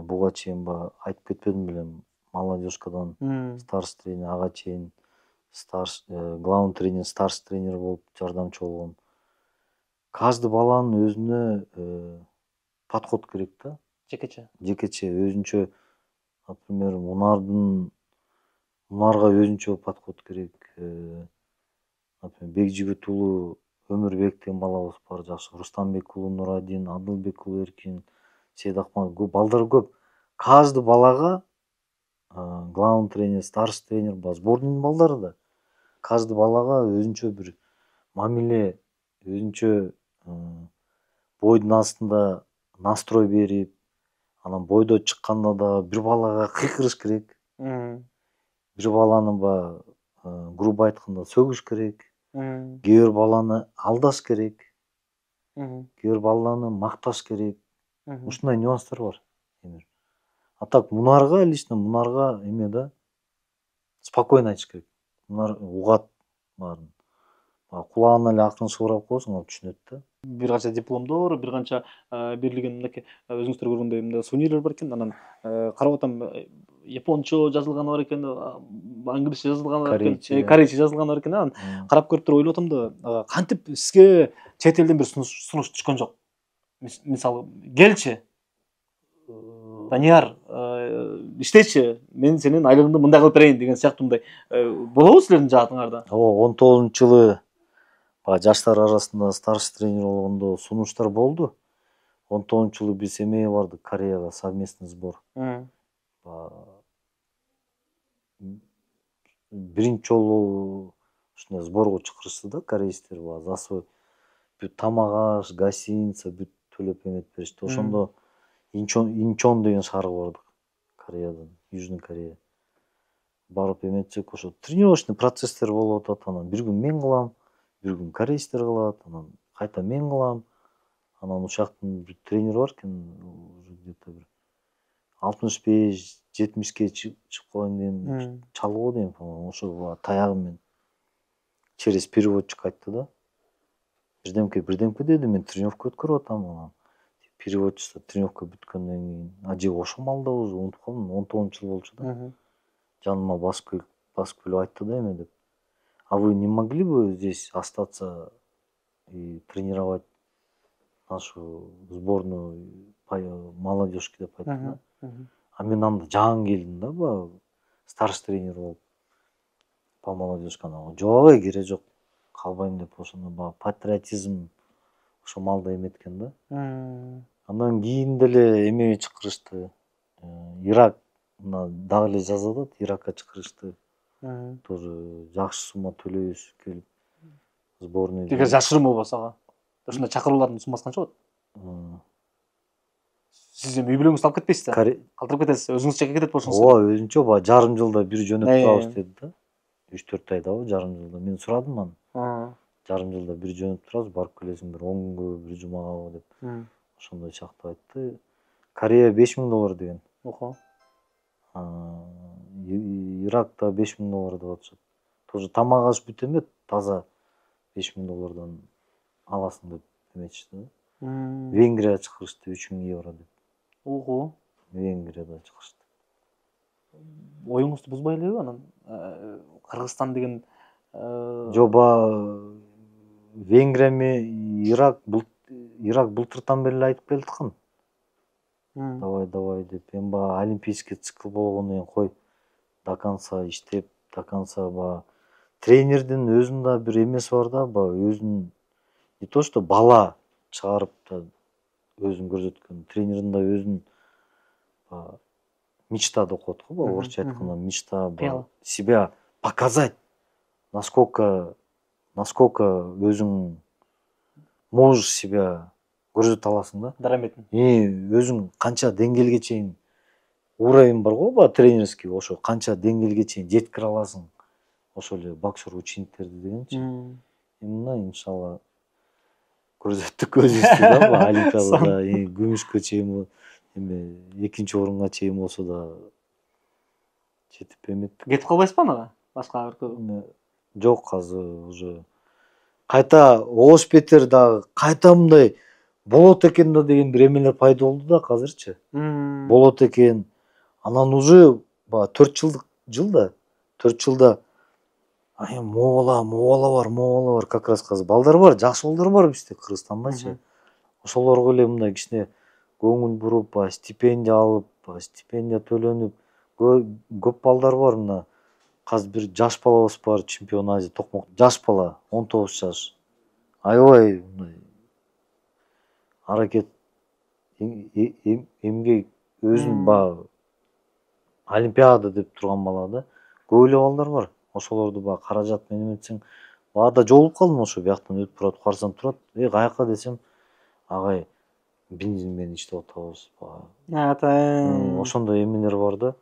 Буга чейин айтып кетпедим белем, молодежкадан старший тренер, ага чейин главный тренер, старший тренер болуп жардамчы болгом. Каждый баланын өзүнө подход керек да. Жекече өзүнчө, например, Мунарга өзүнчө подход керек. Например, Бекжигит уулу Өмүрбек деген балабыз бар, жакшы. Рустамбек уулу Нурадин, Адылбек уулу Эркин, Сейдакман, балдар көп. Каждый балага главный тренер, старший тренер, сборныйдын балдары да. Каждый балага өзүнчө бир мамиле, өзүнчө бойдун астында настрой берип, анан бойдо чыкканда да бир балага кыйкырыш керек. Бир баланы грубо айтканда сөгүш керек. Кээ бир баланы алдаш керек. Кээ бир баланы макташ керек. Ушундай нюанстар бар. А так лично Мунарга эме да, спокойно айтыш керек. Мунар угат баарын. Кулагына эле акырын шыбырап коесуң, ал түшүнөт да. Бир канча дипломдор, бир канча берилген мынакей өзүңүздөр көргөндөй мындай сувенирлер бар экен. Анан карап атам, япончо жазылганы бар экен, англисче жазылганы бар экен, корейче жазылганы бар экен. Анан карап көрүп туруп ойлоп атам да, кантип сизге чет элден бир сунуш түшкөн жок? Мисалы, келчи, Данияр, иштечи, мен сенин айлыгыңды мындай кылып берейин деген сыяктуу мындай болобу силердин жаатыңарда? Ооба, 19-жылы жаштар арасында старший тренер болгондо сунуштар болду. 19-жылы биз эмеге бардык, Кореяга, совместный сбор. Биринчи жолу ушундай сборго чакырышты да корейстер, за бүт тамак аш, гостиница бүт төлөп эметип беришти. Ошондо Инчон деген шаарга бардык, Кореядан, Южный Корея. Барып эметсек, ошо тренировочный процесстер болуп атат. Анан бир күн мен кылам, бир күн корейстер кылат, анан кайта мен кылам. Анан ушактын бир тренер бар экен, где-то бир 65-70ке чыгып калган кийин чалуу дейм, по-моему, ошо таягы менен через переводчик айтты да. Бирдемке деди, мен тренировка өткөрүп атам. Анан переводчица тренировка бүткөндөн кийин, же ошол малда уже унутуп калдым, 19 жыл болчу да. Жаныма басып келип айтты да эме деп. А вы не могли бы здесь остаться и тренировать нашу сборную молодежки деп айтты да. А мен анда жаңы келдим да, старший тренер болуп по молодежке. Жок, кереги жок, калбайм деп ошондо патриотизм ошо малда эметкен да. Андан кийин деле эмеге чакырышты. Ирак дагы эле жазып атат, Иракка чакырышты. Тоже жакшы сумма төлөйбүз келип сборный. Эгер жашырым болбосо ага. Ошондой чакыруулардын суммасы канча болот? Сиз эми үй бүлөңүздү алып кетпейсиз да? Калтырып кетесиз, өзүңүз чекке кетет болушуңуз. Ооба, өзүнчө жарым жылда бир жөнөтүп турабыз деди да. 3-4 айда жарым жылда. Мен сурадым анан. Жарым жылда бир жөнөтүп турабыз, барып келесиң бир 10 күнгө, бир жумага деп. Ошондой чактап айтты. Корея $5000 деген. Ого. Иракта $5000 деп атышат. Тоже тамак аш бүт эмет, таза $5000 аласың деп эметишти да. Венгрияга чакырышты €3000 деп. Ого. Венгрияда чакырышты. Оюңузду бузбай элеби анан? Кыргызстан деген жоба Венгрия менен Ирак былтыртан бери айтып келаткан. Давай деп. Эми олимпийский цикл болгондон кийин кой до конца иштеп, до конца тренердин өзүнүн да бир эмеси бар да, өзүнүн не то что бала чыгарып да өзүн көрсөткөн, тренердин да өзүнүн мечта деп коет го, орусча айтканда мечта, себя показать, насколько насколько өзүң можешь себя көрсөтө аласың да. Дараметин. Өзүң канча деңгээлге чейин уровень бар го, баягы тренерский, ошо канча деңгээлге чейин жеткире аласың. Ошол эле боксер учениктерди дегенчи. Мына иншалла көрсөттүк өзүбүздү да, баягы олимпиадада күмүшкө чейин эме 2-орунга чейин болсо да жетип эметтик. Кетип калбайсызбы анага? Башка өлкөгө? Жок, азыр уже кайта Ош Петер дагы кайта мындай болот экен да деген бир эмелер пайда болду да азырчы. Болот экен. Анан уже баягы 4 жылда 4 жылда могу бала бар, как раз азыр балдар бар, жакшы балдар бар бизде Кыргызстандачы. Ошолорго эле мындай кичине көңүл буруп, баягы стипендия алып, стипендия төлөнүп, көп балдар бар. Мына азыр бир жаш балабыз бар, чемпион Азия токмок. Жаш бала, 19 жаш. Аябай мындай аракет, эмгек, өзүн баягы олимпиада деп турган бала да. Көп эле балдар бар. Ошолорду баягы каражат менен эметсең, баада жолугуп калдым ошо бияктан өтүп баратып, карасам турат. Каяка десем, агай бензин менен иштеп атабыз. Ошондой эмелер бар да.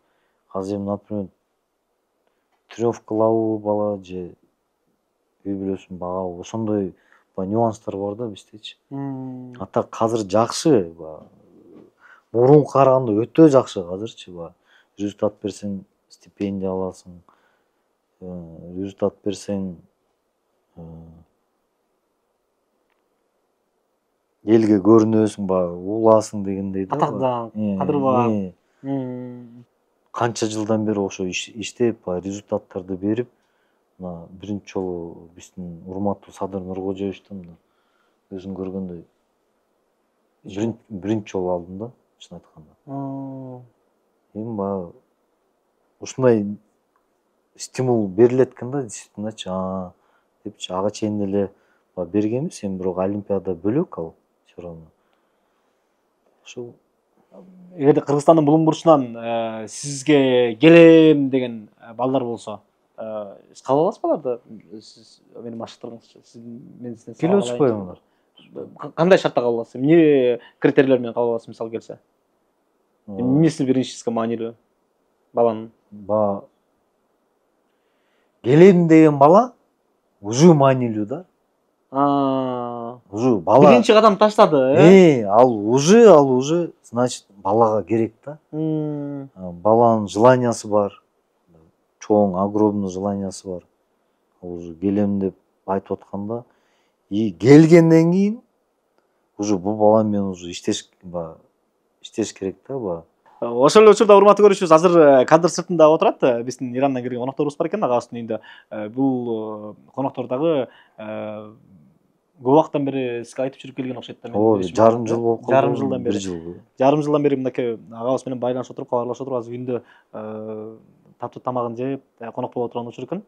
Азыр эми, например, тренировкалабы бала же үй бүлөсүн багабы, ошондой нюанстар бар да биздечи. А так азыр жакшы, мурунга караганда өтө жакшы азырчы. Результат берсең стипендия аласың, результат берсең элге көрүнөсүң, улаасың дегендей да. Атак, кадыр. Канча жылдан бери ошо иштеп, результаттарды берип, мына биринчи жолу биздин урматтуу Садыр Нуркожоевичтен өзүң көргөндөй биринчи жолу алдым да, чын айтканда. Эми баягы ушундай стимул берилет экен да, действительночи, депчи. Ага чейин деле бергенбиз, эми бирок олимпиада бөлөк ал всё равно. Ошол Эгерде Кыргызстандын булуң бурчунан сизге келем деген балдар болсо, сиз кабыл аласызбы аларды? Сиз менин машыктырыңызчы. Сиз мен сизден келип атышпайбы алар? Кандай шартта кабыл аласыз? Эмне критерийлер менен кабыл аласыз, мисалы келсе? Эмнеси биринчиси маанилүү баланын? Келем деген бала уже маанилүү да. Уже бала биринчи кадам таштады, ал уже, значит, балага керек да. Баланын желаниясы бар. Чоң, огромный желаниясы бар. Уже келем деп айтып атканда, келгенден кийин уже бул бала менен уже иштеш керек да. Ошол эле учурда урматтуу көрүүчүбүз, азыр кадр сыртында отурат биздин Ирандан келген конокторубуз бар экен, агабыздын үйүндө. Бул коноктор дагы көп убакыттан бери сизге айтып жүрүп келген окшойт да. Жарым жыл болуп калды. Жарым жылдан бери. Жарым жылдан бери мынакей агабыз менен байланышып отуруп, кабарлашып отуруп, азыр үйүндө таптуу тамагын жеп, конок боло турган учур экен.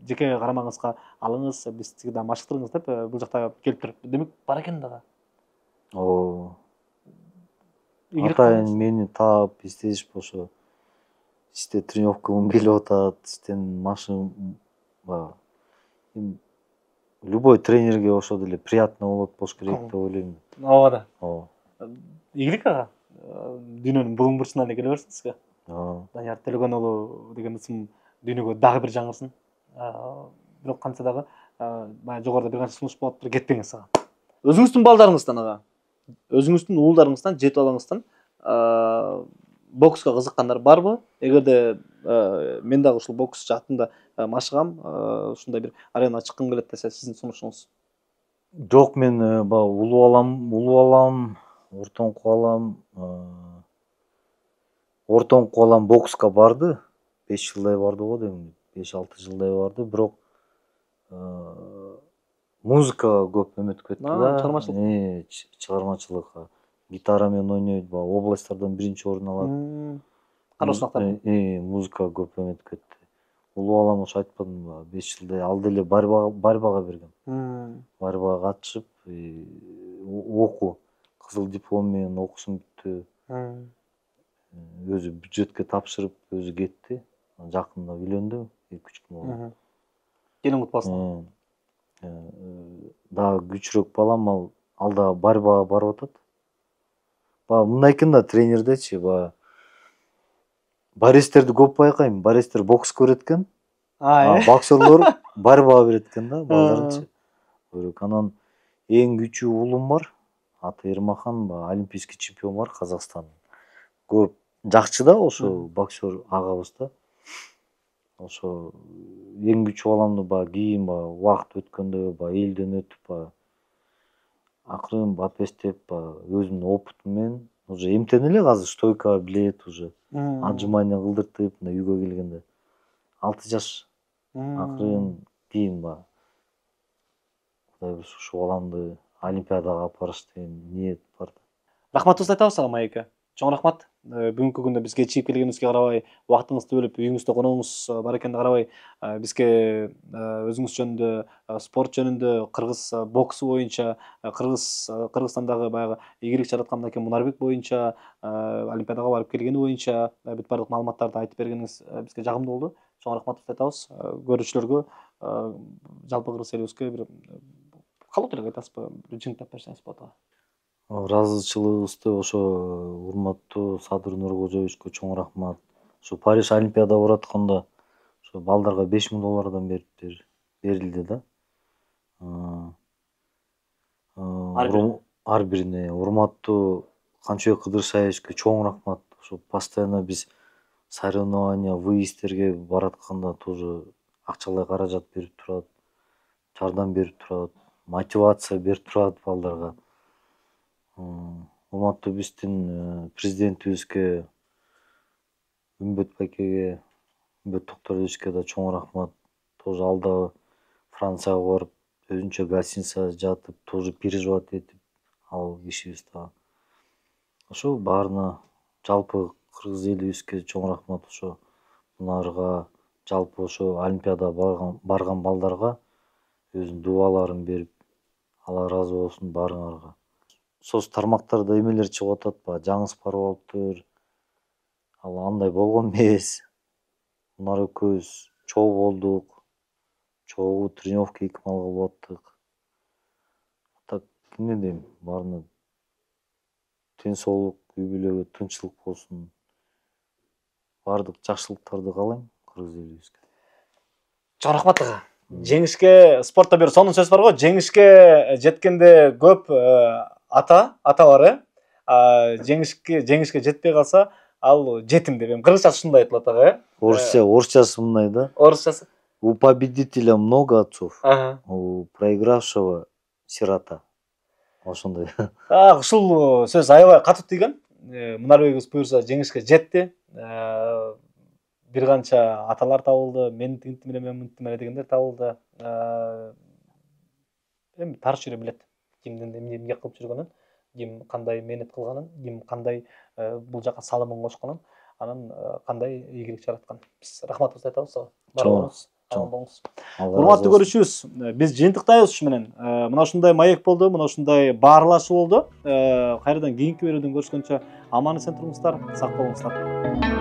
Жеке карамаңызга алыңыз, бизди да машыктырыңыз деп бул жакта келип туруп. Демек бар экен дагы. Атайын мени таап, издешип ошо иште тренировкага келип атат, иштен машыгым любой тренерге ошо деле приятно болот болуш керек деп ойлойм. Ооба да. Ийгилик ага. Дүйнөнүн булуң бурчунан эле келе берсин сизге. Данияр Төлөгөн уулу деген ысым дүйнөгө дагы бир жаңырсын. Бирок кантса дагы баягы жогоруда бир канча сунуш болуп туруп кетпеңиз ага. Өзүңүздүн балдарыңыздан ага, өзүңүздүн уулдарыңыздан, жети балаңыздан бокска кызыккандар барбы? Эгерде мен дагы ушул бокс жаатында машыгам, ушундай бир аренага чыккым келет десе, сиздин сунушуңуз? Жок, мен баягы улуу балам, ортоңку балам бокска барды. 5 жылдай барды го дейм, 5-6 жылдай барды, бирок музыкага көп эметип кетти да. Чыгармачылыкка. Гитара менен ойнойт, баягы областтардан биринчи орун алат. Кароосунактар. Музыкага көп эметип кетти. Улуу балам ошо айтпадымбы, 5 жылдай ал деле борьбага берген. Борьбага катышып, окуу, кызыл диплом менен окуусун бүттү. Өзү бюджетке тапшырып, өзү кетти. Жакында үйлөндү, 2-3 күн болду. Келин кутпу болсун. дагы күчүрөөк балам, ал дагы борьбага барып атат. Баягы мындай экен да, тренердечи, баягы борецтерди көп байкайм. Борецтер бокс көрөт экен. Боксерлор борьбага берет экен да, балдарынчы. Анан эң күчүү уулум бар. Аты Эрмахан, олимпийский чемпион бар Казакстан. Көп жакчы да ошо боксер агабыз да. Ошо эң күчүү баламды кийин убакыт өткөндө элден өтүп акырын бапестеп өзүмдүн опытым менен уже эмтене эле азыр стойка билет, уже отжимание кылдыртып үйгө келгенде 6 жаш акырын кийин Кудай буюрса ушу баламды олимпиадага алып барыш деген ниет бар. Рахматыбызды айтабыз ага Майекке. Чоң рахмат. Бүгүнкү күндө бизге чыгып келгениңизге карабай, убактыңызды бөлүп үйүңүздө конуңуз бар экенине карабай, бизге өзүңүз жөнүндө, спорт жөнүндө, кыргыз боксу боюнча, Кыргызстандагы баягы ийгилик жараткан мынакей Мунарбек боюнча, олимпиадага барып келгени боюнча бүт бардык маалыматтарды айтып бергениңиз бизге жагымдуу болду. Чоң рахматыбызды айтабыз. Көрүүчүлөргө, жалпы кыргыз элибизге бир калуу тилек айтасызбы? Жыйынтыктап берсеңиз болот. Ыраазычылыгыбызды ошо урматтуу Садыр Нуркожоевичке чоң рахмат. Ошо Париж олимпиада барып атканда ошо балдарга $5000 берилди да. Ар бирине. Урматтуу Канчыбек Кыдыршаевичке чоң рахмат. Ошо постоянно биз соревнования, выездтерге баратканда тоже акчалай каражат берип турат, жардам берип турат, мотивация берип турат балдарга. Урматтуу биздин президентибизге, Үмбөт байкеге, Үмбөт Токторовичке да чоң рахмат. Тоже ал да Францияга барып, өзүнчө гостиницада жатып, тоже переживать этип, ал кишибиз да. Ошо баарына жалпы кыргыз элибизге чоң рахмат. Ошо мунарга, жалпы ошо олимпиадага барган балдарга өзүнүн дубаларын берип, Алла ыраазы болсун баарыңарга. Соц тармактарда эмелер чыгып атат, жаңы спорттор, ал андай болгон эмес. Мунар экөөбүз чогуу болдук, чогуу тренировка 2 мал кылып аттык. Так, эмне дейм, баарына тең соолук, үй бүлөгө тынччылык болсун. Бардык жакшылыктарды каалайм кыргыз элибизге. Чоң рахмат ага. Жеңишке, спортто бир сонун сөз бар го, жеңишке жеткенде көп ата бар, жеңишке жетпей калса, ал жетим деп. Кыргызчасы ушундай айтылат ага, Орусчасы мындай да. Орусчасы. У победителя много отцов, у проигравшего сирота. Ошондой. Ушул сөз аябай катуу тийген. Мунарбекибиз буюрса жеңишке жетти. Бир канча аталар табылды, мен тинтим эле дегендер табылды. Эми тарыш жүрө билет. Кимдин эмне кылып жүргөнүн, ким кандай мээнет кылганын, ким кандай бул жака салымын кошконун, анан кандай ийгилик жараткан. Биз рахматыбызды айтабыз. Баарыңыз аман болуңуз. Урматтуу көрүүчүбүз, биз жыйынтыктайбыз ушу менен. Мына ушундай маек болду, мына ушундай баарлашуу болду. Кайрадан кийинки берүүдөн көрүшкөнчө аман эсен туруңуздар, сак болуңуздар.